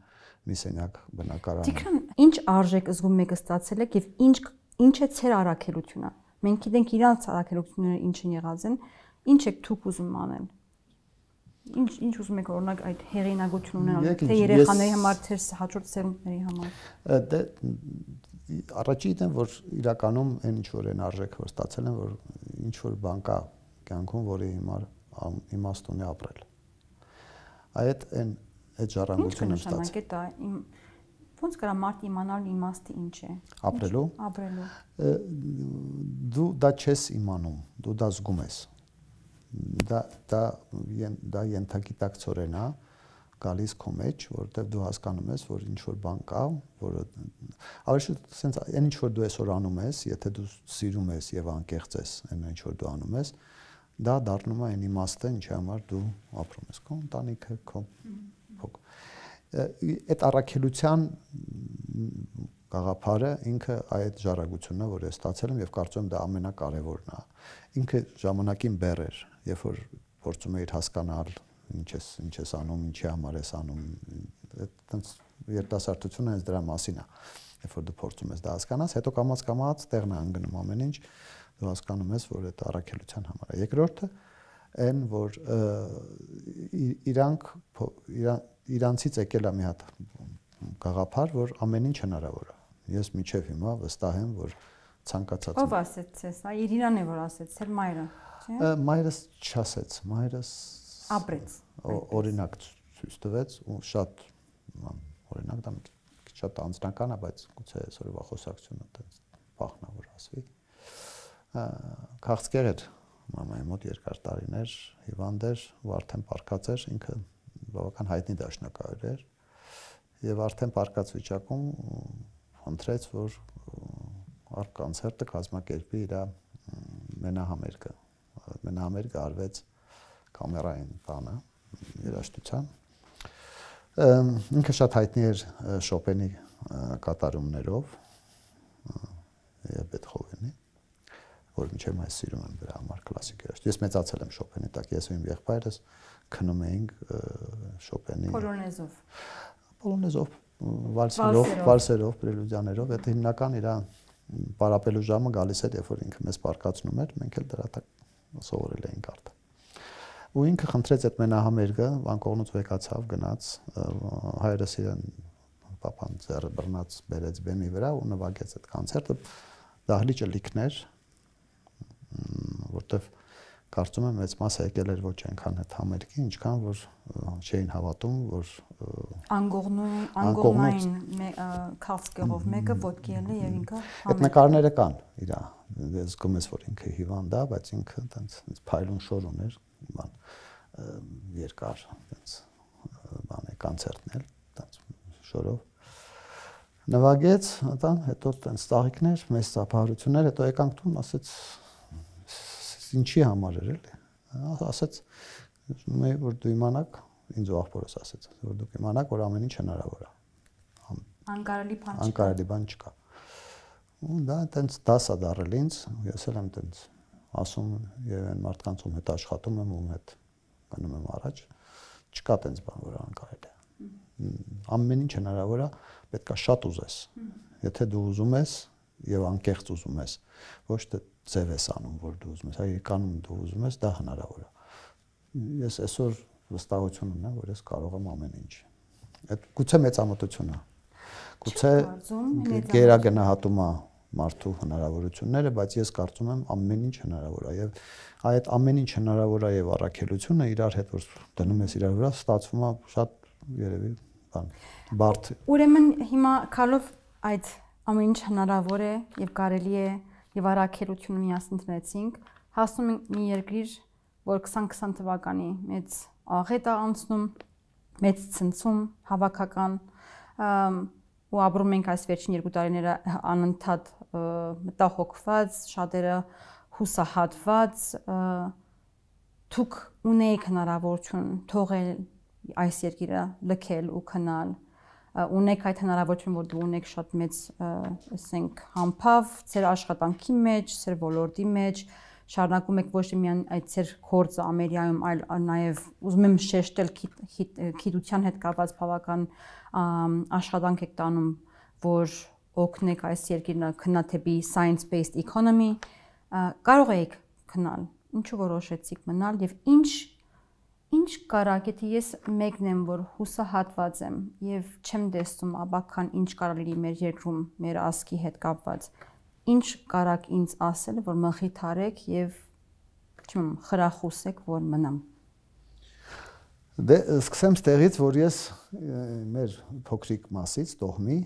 մի սենյակ բնակարանում։ Տիգրան, ինչ արժեք զգում եք ստացել եք եւ ինչ ինչ է ցեր առաքելությունը։ Մենք գիտենք իրանց առաքելությունները ինչ են եղած են, ինչ եք դուք ուզում անել։ Ինչ ինչ ուզում եք օրինակ այդ հեղինակություն ունենալ, թե երեխաների համար, թե հաջորդ սերունդների համար։ Դե առաջին եմ, որ իրականում այն ինչ որ են արժեք որ ստացել են, որ ինչ որ բան կա կյանքում, որի հիմար իմաստ ունի ապրել։ Այդ այն այդ ժառանգությունը ստացել։ Ոնց կարա մարդ իմանալ իմաստը ինչ է։ Ապրելու։ Ապրելու։ Դու դա չես իմանում, դու դա զգում ես։ Դա դա դա ենթագիտակցորեն է գալիս քո մեջ, որովհետև դու հասկանում ես, որ ինչ որ բան կա, որը ավելի շուտ sense այն ինչ որ դու այսօր անում ես, եթե դու սիրում ես եւ անկեղծ ես, այն ինչ որ դու անում ես, դա դառնում է այն իմաստը, ինչի համար դու ապրում ես, քո ընտանիքը, քո փոք։ Այդ առաքելության գաղափարը ինքը այդ ժառանգությունն է, որ ես ստացել եմ եւ կարծում եմ դա ամենակարևորն է։ Ինքը ժամանակին բեռ էր, երբ որ փորձում էիր հասկանալ ինչ ես ինչ ես անում, ինչի համար ես անում, այդտենց երիտասարդությունը հենց դրա մասին է, երբ որ դու փորձում ես դա հասկանաս, հետո կամած կամած տեղն է անգնում ամեն ինչ, դու հասկանում ես, որ այդ առաքելության համար է։ Երկրորդը այն, որ իրանք իրանցից եկել է մի հատ գաղափար, որ ամեն ինչ հնարավոր է։ Ես միջև հիմա վստահ եմ, որ ցանկացած Ով ասեց ես, այ Իրինան է որ ասեց, ծեր մայրը, չէ՞։ Մայրս չասեց, մայրս ապրեց։ Օրինակ ցույց տվեց ու շատ օրինակ դա շատ անձնական է, բայց գուցե այսօրվա խոսակցությունը այդպես բախնա որ ասվի։ Քաղցկեր էր մամայի մոտ երկար տարիներ, հիվանդ էր, ու արդեն պարկած էր, ինքը բավական հայտնի դաշնակահար էր եւ արդեն պարկած վիճակում խնդրեց, որ արկ կոնցերտը կազմակերպի իր մենահամերգը։ Մենահամերգը արվեց կամերային բանը, երաժշտության։ Ինքը շատ հայտնի էր Շոպենի կատարումներով եւ Բեթհովենի, որ մինչև այս սիրում եմ դրա համար կլասիկ երաժշտ։ Ես մեծացել եմ Շոպենի տակ, ես ու իմ եղբայրս քնում էինք Շոպենի Պոլոնեզով։ Պոլոնեզով, վալսերով, վալսերով, պրելյուդիաներով, այդ հիմնական իր պարապելու ժամը գալիս էր, երբ որ ինքը մեզ պարկացնում էր, մենք էլ դրա տակ սովորել էինք արդեն։ Ու ինքը խնդրեց այդ մենահամերգը, Վանկողնուց վեկացավ, գնաց, հայրս իրեն պապան ձեռը բռնած բերեց բեմի վրա ու նվագեց այդ կոնցերտը, դահլիճը լիքներ, որտեվ կարծում եմ մեծ մասը եկել էր ոչ այնքան այդ համերգի, ինչքան որ չէին հավատում, որ անգողնու անգողնային քաղցկեղով մեկը ոտքի ելը եւ ինքը այդ նկարները կան իրա զգում ես որ ինքը հիվանդ է, բայց ինքը այտենց փայլուն շոր ուներ, բան երկար այտենց բան է կոնցերտն էլ այտենց շորով նվագեց, այտան հետո այտենց ծաղիկներ, մեծ ծափահարություններ, հետո եկանք տուն, ասեց ինչի համար էր էլի, ասեց որ դու իմանաք, ինձ ու աղբորս ասեց, որ դուք իմանաք, որ ամեն ինչ հնարավոր է։ Անկարելի բան չկա։ Անկարելի բան չկա։ Ու դա այտենց դաս է դարել ինձ, ես էլ եմ այտենց ասում եւ այն մարդկանց ում հետ աշխատում եմ, ում հետ գնում եմ առաջ, չկա այտենց բան, որ անկարելի է։ Ամեն ինչ հնարավոր է, պետք է շատ ուզես։ Եթե դու ուզում ես եւ անկեղծ ուզում ես, ոչ թե ձև ես անում, որ դու ուզում ես, այլ կանում դու ուզում ես, դա հնարավոր է։ Ես այսօր վստահություն ունեմ, որ ես կարող եմ ամեն ինչ։ Այդ գուցե մեծամտություն է։ Գուցե գերագնահատում է մարդու հնարավորությունները, բայց ես կարծում եմ ամեն ինչ հնարավոր է եւ այդ ամեն ինչ հնարավոր է եւ առաքելությունը իրար հետ որ դնում ես իրար վրա ստացվում է շատ երևի բան բարդ։ Ուրեմն հիմա քալով այդ ամեն ինչ հնարավոր է եւ կարելի է եւ առաքելությունը միասին դնեցինք, հասնում ենք մի երկիր, որ քսան քսան թվականի մեծ աղետ է անցնում, մեծ ցնցում, հավաքական ու ապրում ենք այս վերջին երկու տարիները անընդհատ մտահոգված, շատերը հուսահատված, դուք ունեիք հնարավորություն թողել այս երկիրը, լքել ու քնալ, ունեք այդ հնարավորություն, որ դու ունեք շատ մեծ, ասենք, համբավ, ձեր աշխատանքի մեջ, ձեր ոլորտի մեջ, շարունակում եք ոչ միայն այդ ձեր գործը Ամերիկայում, այլ նաև ուզում եմ շեշտել գիտության հետ կապված բավական աշխատանք եք տանում, որ օգնեք այս երկիրը քննա թեպի science-based economy, կարող եք քնալ, ինչու որոշեցիք մնալ եւ ինչ ինչ կարակ, եթե ես մեկն եմ, որ հուսահատված եմ եւ չեմ տեսնում աբական ինչ կարելի մեր երկրում, մեր ազգի հետ կապված, ինչ կարակ ինձ ասել, որ մխիթարեք եւ չեմ խրախուսեք, որ մնամ։ Դե սկսեմ ստեղից, որ ես մեր փոքրիկ մասից տոհմի,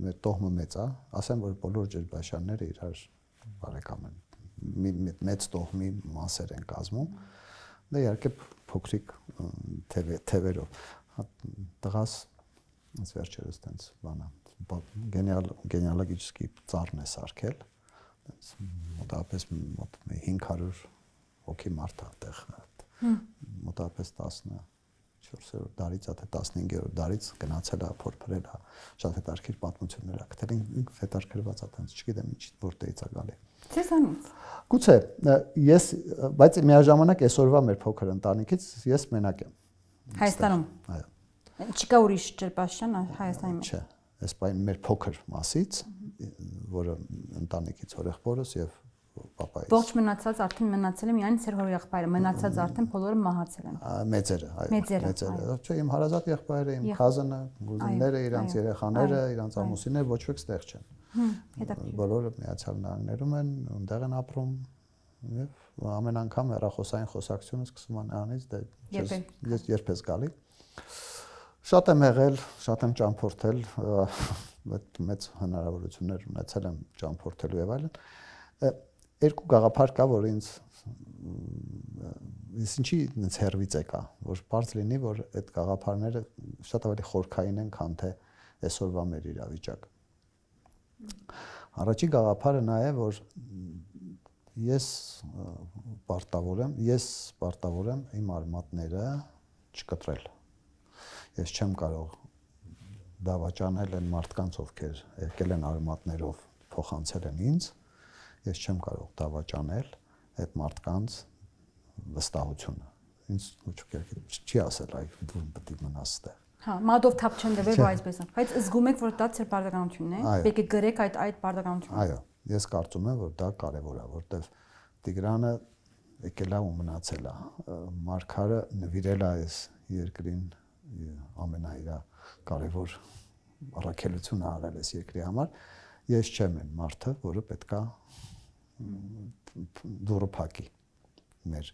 մեր տոհմը մեծ է, ասեմ, որ բոլոր ջրբաշանները իրար բարեկամ են, մեծ տոհմի մասեր են կազմում, դա իհարկե փոքրիկ թևերով, տղաս ինձ վերջերս տենց բանա, գենեալոգический ծառն է սարքել, մոտավորապես մոտ հինգ հարյուր հոգի մարդ է այդտեղ, մոտավորպես տասնչորսերորդ դարից, թե տասնհինգերորդ դարից գնացել է, փորփրել է, շատ հետաքրքիր պատմություններ է գտել, ինքը հետաքրքրված է, տենց չգիտեմ ինչ որտեղից է գալի։ Ցեզանից։ Գուցե, ես, բայց միաժամանակ այսօրվա մեր փոքր ընտանիքից ես մենակ եմ։ Հայաստանում։ Այո։ Չկա ուրիշ ջրբաշան Հայաստանի մեջ։ Չէ, այս բան մեր փոքր մասից, որը ընտանիքից հորեղբորս եւ պապայից։ Ողջ մնացած արդեն մնացել է միայն ծեր հորեղբայրը, մնացած արդեն բոլորը մահացել են։ Մեծերը, այո, մեծերը։ Չէ, իմ հարազատ եղբայրը, իմ cousin-ը, գուզինները, իրանց երեխաները, իրանց ամուսինները ոչ ոք ստեղ չեն։ Բոլորը Միացյալ Նահանգներում են, այնտեղ են ապրում եւ ամեն անգամ հեռախոսային խոսակցությունը սկսում է նրանից, դե ես երբ ես գալի։ Շատ եմ եղել, շատ եմ ճամփորդել, մեծ հնարավորություններ ունեցել եմ ճամփորդելու եւ այլն։ Երկու գաղափար կա, որ ինձ ես ինչի ինձ հերվից եկա, որ բարձ լինի, որ այդ գաղափարները շատ ավելի խորքային են, քան թե այսօրվա մեր իրավիճակը։ Առաջի գաղափարը նա է, որ ես պարտավոր եմ, ես պարտավոր եմ իմ արմատները չկտրել։ Ես չեմ կարող դավաճանել այն մարդկանց, ովքեր եկել են արմատներով փոխանցել են ինձ, ես չեմ կարող դավաճանել այդ մարդկանց վստահությունը։ Ինձ ոչ ոք չի ասել, այ դու պետք է մնաս այդտեղ։ Հա, մատով թափ չեն դվել, որ այսպես է։ Բայց զգում եք, որ դա ձեր պարտականությունն է։ Պետք է գրեք այդ այդ պարտականությունը։ Այո, ես կարծում եմ, որ դա կարևոր է, որտեվ Տիգրանը եկել է ու մնացել է։ Մարգարը նվիրել է այս երկրին ամենաիրա կարևոր առաքելությունը արել այս երկրի համար։ Ես չեմ այն մարդը, որը պետքա դուրը փակի մեր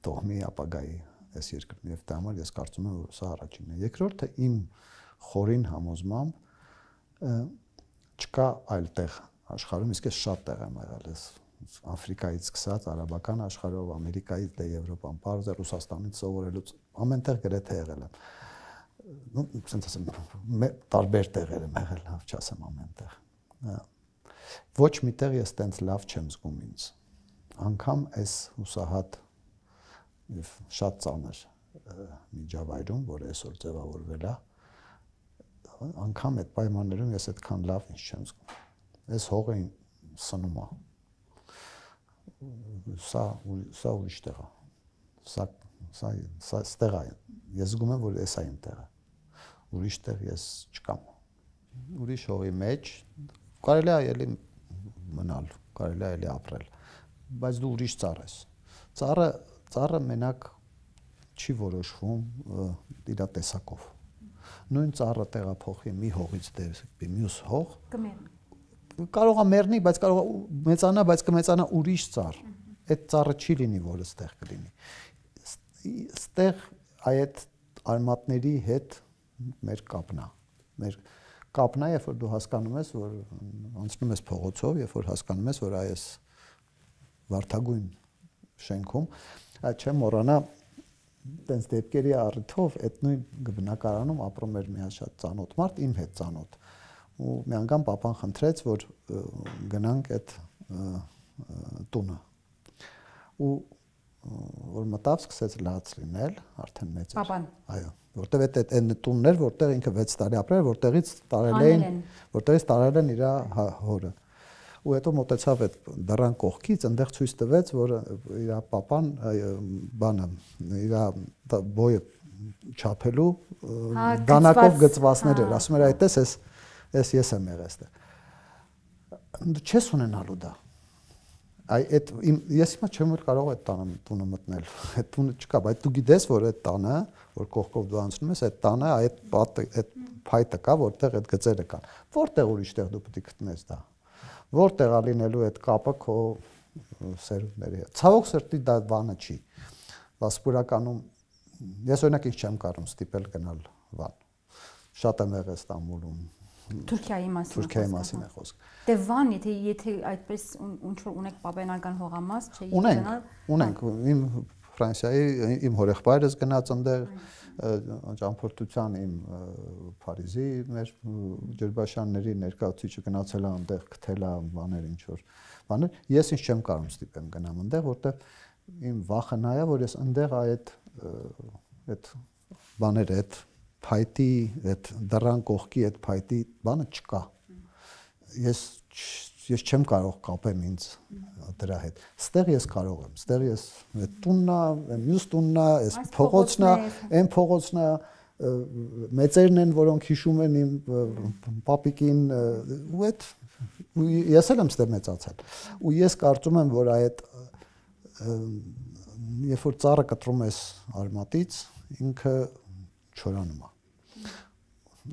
տոհմի ապագայի այս երկրում եւ դա համար ես կարծում եմ որ սա առաջինն է երկրորդը իմ խորին համոզմամբ չկա այլ տեղ աշխարհում իսկ ես շատ տեղ եմ եղել ես Աֆրիկայից սկսած արաբական աշխարհով ամերիկայից դե Եվրոպան բարձ է Ռուսաստանից սովորելուց ամենտեղ գրեթե եղել եմ ну ասենք ասեմ տարբեր տեղեր եմ եղել լավ չասեմ ամենտեղ ոչ միտեղ ես տենց լավ չեմ զգում ինձ անգամ այս հուսահատ եւ շատ ծանր միջավայրում, որ այսօր ձևավորվել է, անգամ այդ պայմաններում ես այդքան լավ ինչ չեմ զգում։ Այս հողը սնում է։ Սա սա ուրիշ տեղ է։ Սա սա սա ստեղ է։ Ես զգում եմ, որ այս է իմ տեղը։ Ուրիշ տեղ ես չկամ։ Ուրիշ հողի մեջ կարելի է ելի մնալ, կարելի է ելի ապրել, բայց դու ուրիշ ծառ ես։ Ծառը Ծառը մենակ չի որոշվում իր տեսակով։ Նույն ծառը տեղափոխի մի հողից դեպի մյուս հող կմեռնի։ Կարող է մեռնի, բայց կարող է մեծանա, բայց կմեծանա ուրիշ ծառ։ Այդ ծառը չի լինի, որ այստեղ կլինի։ Այստեղ այդ արմատների հետ մեր կապն է։ Մեր կապն է, երբ որ դու հասկանում ես, որ անցնում ես փողոցով, երբ որ հասկանում ես, որ այս վարդագույն շենքում չեմ մոռանա տենց դեպքերի առիթով այդ նույն բնակարանում ապրում էր մի շատ ծանոթ մարդ իմ հետ ծանոթ ու մի անգամ papan խնդրեց որ գնանք այդ տունը ու որ մտավ սկսեց լաց լինել արդեն մեծ էր papan այո որտեվ այդ այդ տունն էր որտեղ ինքը վեց տարի ապրել որտեղից տարել էին որտեղից տարել են իր հորը ու հետո մոտեցավ այդ դռան կողքից այնտեղ ցույց տվեց որ իր papan բանը իր բոյը չափելու դանակով գծվածներ էր ասում էր այդպես էս էս ես եմ եղել այստեղ դու չես ունենալու դա այ այդ ես հիմա չեմ որ կարող այդ տանը տունը մտնել այդ տունը չկա բայց դու գիտես որ այդ տանը որ կողքով դու անցնում ես այդ տանը այդ պատը այդ փայտը կա որտեղ այդ գծերը կան որտեղ ուրիշ տեղ դու պետք է գտնես դա որտեղ է լինելու այդ կապը քո սերունդների հետ։ Ցավոք սրտի դա բանը չի։ Վասպուրականում ես օրինակ ինչ չեմ կարող ստիպել գնալ Վան։ Շատ եմ եղել Ստամբուլում։ Թուրքիայի մասին։ Թուրքիայի մասին է խոսքը։ Դե Վան, եթե եթե այդպես ինչ որ ունեք պապենական հողամաս, չէի գնալ։ Ունենք, ունենք։ Իմ Ֆրանսիայի իմ հորեղբայրս գնաց այնտեղ ճամփորդության իմ Փարիզի մեր ջրբաշանների ներկայացուցիչը գնացել է այնտեղ գտել է բաներ ինչ որ բաներ ես ինչ չեմ կարող ստիպեմ գնամ այնտեղ որտեղ իմ վախը նա է որ ես այնտեղ այդ այդ բաները այդ փայտի այդ դռան կողքի այդ փայտի բանը չկա ես ես չեմ կարող կապեմ ինձ դրա հետ ստեղ ես կարող եմ ստեղ ես այդ տունն է մյուս տունն է այս փողոցն է այն փողոցն է մեծերն են որոնք հիշում են իմ պապիկին ու այդ ես էլ եմ ստեղ մեծացել ու ես կարծում եմ որ այդ երբ որ ծառը կտրում ես արմատից ինքը չորանում է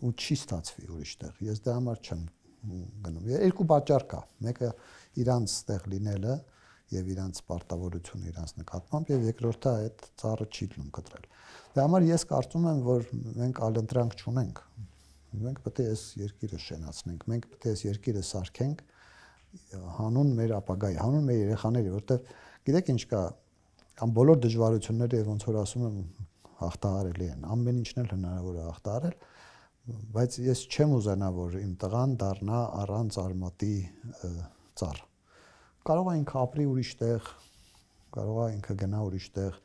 ու չի ստացվի ուրիշ տեղ ես դա համար չեմ գնում երկու պատճառ կա մեկը իրանց տեղ լինելը եւ իրանց պարտավորությունը իրանց նկատմամբ եւ երկրորդը այդ ծառը չի լինում կտրել դա համար ես կարծում եմ որ մենք ալընտրանք չունենք մենք պետք է այս երկիրը շենացնենք մենք պետք է այս երկիրը սարքենք հանուն մեր ապագայի հանուն մեր երեխաների որտեվ գիտեք ինչ կա ամ բոլոր դժվարությունները եւ ոնց որ ասում եմ հաղթահարելի են ամեն ինչն էլ հնարավոր է հաղթահարել բայց ես չեմ ուզենա որ իմ տղան դառնա առանց արմատի ծառ կարող է ինքը ապրի ուրիշ տեղ կարող է ինքը գնա ուրիշ տեղ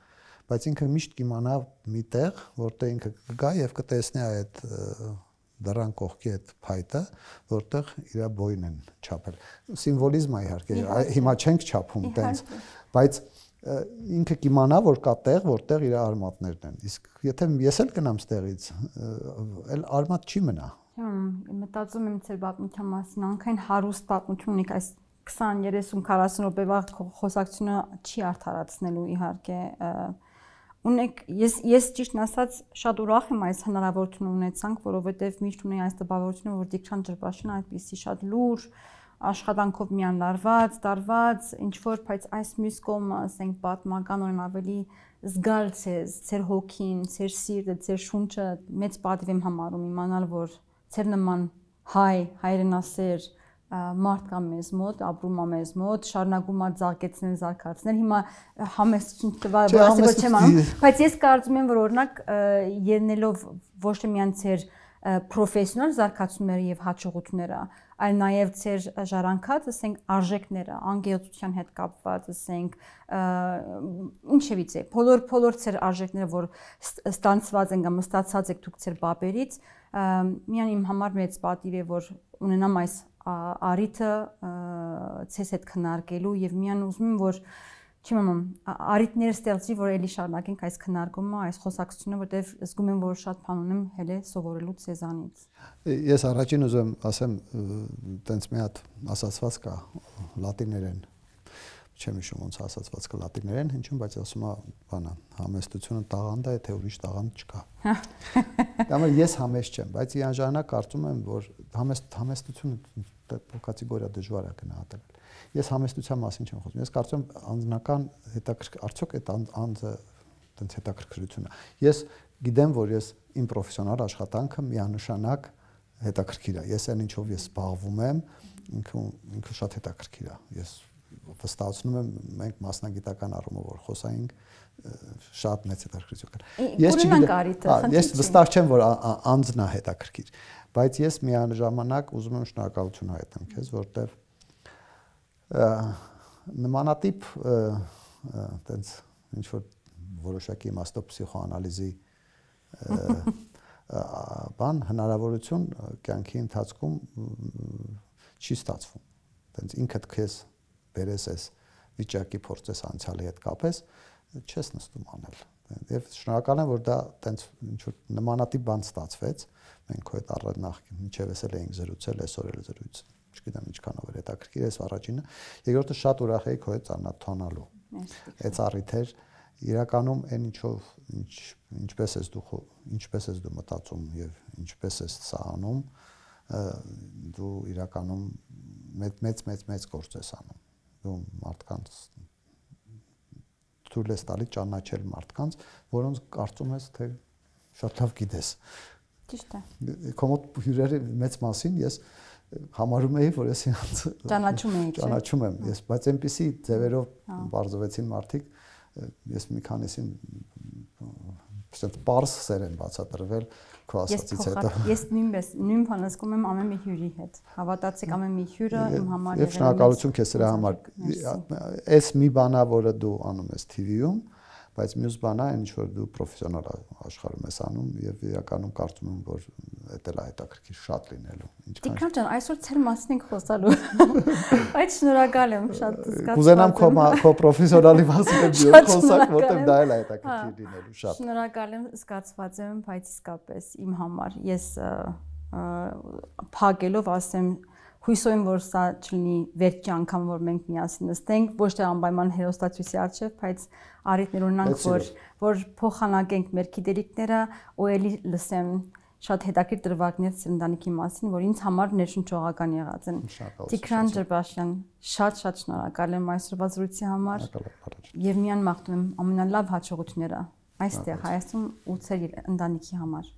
բայց ինքը միշտ կիմանա մի տեղ որտեղ ինքը կգա եւ կտեսնի այդ դռան կողքի այդ փայտը որտեղ իր բոյն են չափել սիմվոլիզմ է իհարկե հիմա չենք չափում տենց բայց ինքը կիմանա որ կա տեղ որտեղ իր արմատներն են իսկ եթե ես էլ գնամ ստեղից էլ արմատ չի մնա մտածում եմ ձեր պատմության մասին անկայն հարուստ պատմություն ունեք այս քսան երեսուն քառասուն րոպեվա խոսակցությունը չի արդարացնելու իհարկե ունեք ես ես ճիշտն ասած շատ ուրախ եմ այս հնարավորությունը ունեցանք որովհետև միշտ ունեի այս տպավորությունը որ Դիքչան ջրբաշանը այդպիսի շատ լուր աշխատանքով միան լարված, տարված, ինչ որ, բայց այս մյուս կողմը, ասենք, պատմականորեն ավելի զգալ ցեզ, ձեր հոգին, ձեր սիրտը, ձեր շունչը մեծ պատիվ եմ համարում իմանալ, որ ձեր նման հայ, հայրենասեր մարդ կա մեզ մոտ, ապրում է մեզ մոտ, շարունակում է զարգացնել, զարգացնել։ Հիմա համեստություն տվար, որ ասել որ չեմ անում, բայց ես կարծում եմ, որ օրինակ ելնելով ոչ թե միայն ձեր պրոֆեսիոնալ զարգացումները եւ հաջողությունները, այլ նաեւ ձեր ժառանգած, ասենք, արժեքները, անկեղծության հետ կապված, ասենք, ինչևից է, բոլոր բոլոր ձեր արժեքները, որ ստանցված են կամ ստացած եք դուք ձեր բաբերից, միայն իմ համար մեծ պատիվ է, որ ունենամ այս արիթը ցես հետ քննարկելու եւ միան ուզում եմ որ չեմ անում արիթներ ստեղծի որ էլի շարունակենք այս քննարկումը այս խոսակցությունը որտեվ զգում եմ որ շատ բան ունեմ հələ սովորելու ցեզանից ես առաջին ուզում ասեմ տենց մի հատ ասացված կա լատիներեն չեմ հիշում ոնց ասացված կա լատիներեն ինչու բայց ասում է բանա համեստությունը տաղանդ է թե ուրիշ տաղանդ չկա Դամը ես համեստ չեմ բայց իանժանակ կարծում եմ որ համեստ համեստությունը կատեգորիա դժվար է գնահատել ես համեստության մասին չեմ խոսում ես կարծում եմ անձնական հետաքրքիր արդյոք այդ անձը տենց հետաքրքրություն է ես գիտեմ որ ես իմ պրոֆեսիոնալ աշխատանքը միանշանակ հետաքրքիր է ես այն ինչով ես զբաղվում եմ ինքը ինքը շատ հետաքրքիր է ես վստահեցնում եմ մենք մասնագիտական առումով որ խոսայինք շատ մեծ հետաքրքրություն կա ես չգիտեմ ես վստահ չեմ որ անձն է հետաքրքիր բայց ես միաժամանակ ուզում եմ շնորհակալություն հայտնել քեզ որտեվ նմանատիպ տենց ինչ որ որոշակի իմաստով պսիխոանալիզի բան հնարավորություն կյանքի ընթացքում չի ստացվում տենց ինքդ քեզ բերես ես վիճակի փորձես անցյալի հետ կապես չես նստում անել եւ շնորհակալ եմ որ դա տենց ինչ որ նմանատիպ բան ստացվեց մենք քո հետ առ նախքին ինչեւ էսել էինք զրուցել այսօր էլ զրույց չգիտեմ ինչքանով էր հետաքրքիր էս առաջինը երկրորդը շատ ուրախ էի քո հետ ծանոթանալու այդ առիթեր իրականում այն ինչով ինչ ինչպես ես դու ինչպես ես դու մտածում եւ ինչպես ես սա անում դու իրականում մեծ մեծ մեծ մեծ գործ ես անում դու մարդկանց թույլ ես տալի ճանաչել մարդկանց որոնց կարծում ես թե շատ լավ գիտես ճիշտ է քո մոտ հյուրերի մեծ մասին ես համարում էի որ ես ինձ ճանաչում էի ճանաչում եմ ես բայց այնպեսի ձևերով բարձվեցին մարդիկ ես մի քանիսին Պրոստատ պարզ սեր են բացատրվել քո ասածից հետո։ Ես նույնպես նույն բանը զգում եմ ամեն մի հյուրի հետ։ Հավատացեք ամեն մի հյուրը իմ համար եղել է։ Եվ շնորհակալություն քեզ դրա համար։ Այս մի բանա, որը դու անում ես T V-ում, բայց մյուս բանա այն ինչ որ դու պրոֆեսիոնալ աշխարհում ես անում եւ իրականում կարծում եմ որ դա էլ հետաքրքիր շատ լինելու։ Տիկրան ջան, այսօր ծեր մասին ենք խոսալու։ Բայց շնորհակալ եմ շատ զգացված։ Կուզենամ քո քո պրոֆեսիոնալի մասին դու խոսակ, որտեղ դա էլ հետաքրքիր լինելու շատ։ Շնորհակալ եմ, զգացված եմ, բայց իսկապես իմ համար ես փակելով ասեմ հույսով եմ որ սա չլինի վերջի անգամ որ մենք միասին նստենք ոչ թե անպայման հերոստատուսի արժև բայց առիթներ ունենանք որ որ փոխանակենք մեր գիտելիքները ու էլի լսեմ շատ հետաքրքիր դրվագներ ծննդանիքի մասին որ ինձ համար ներշնչողական եղած են Տիգրան Ջրբաշյան շատ շատ շնորհակալ եմ այսօրվա զրույցի համար եւ միան մաղթում եմ ամենալավ հաջողությունները այստեղ Հայաստանում ու ծեր ընտանիքի համար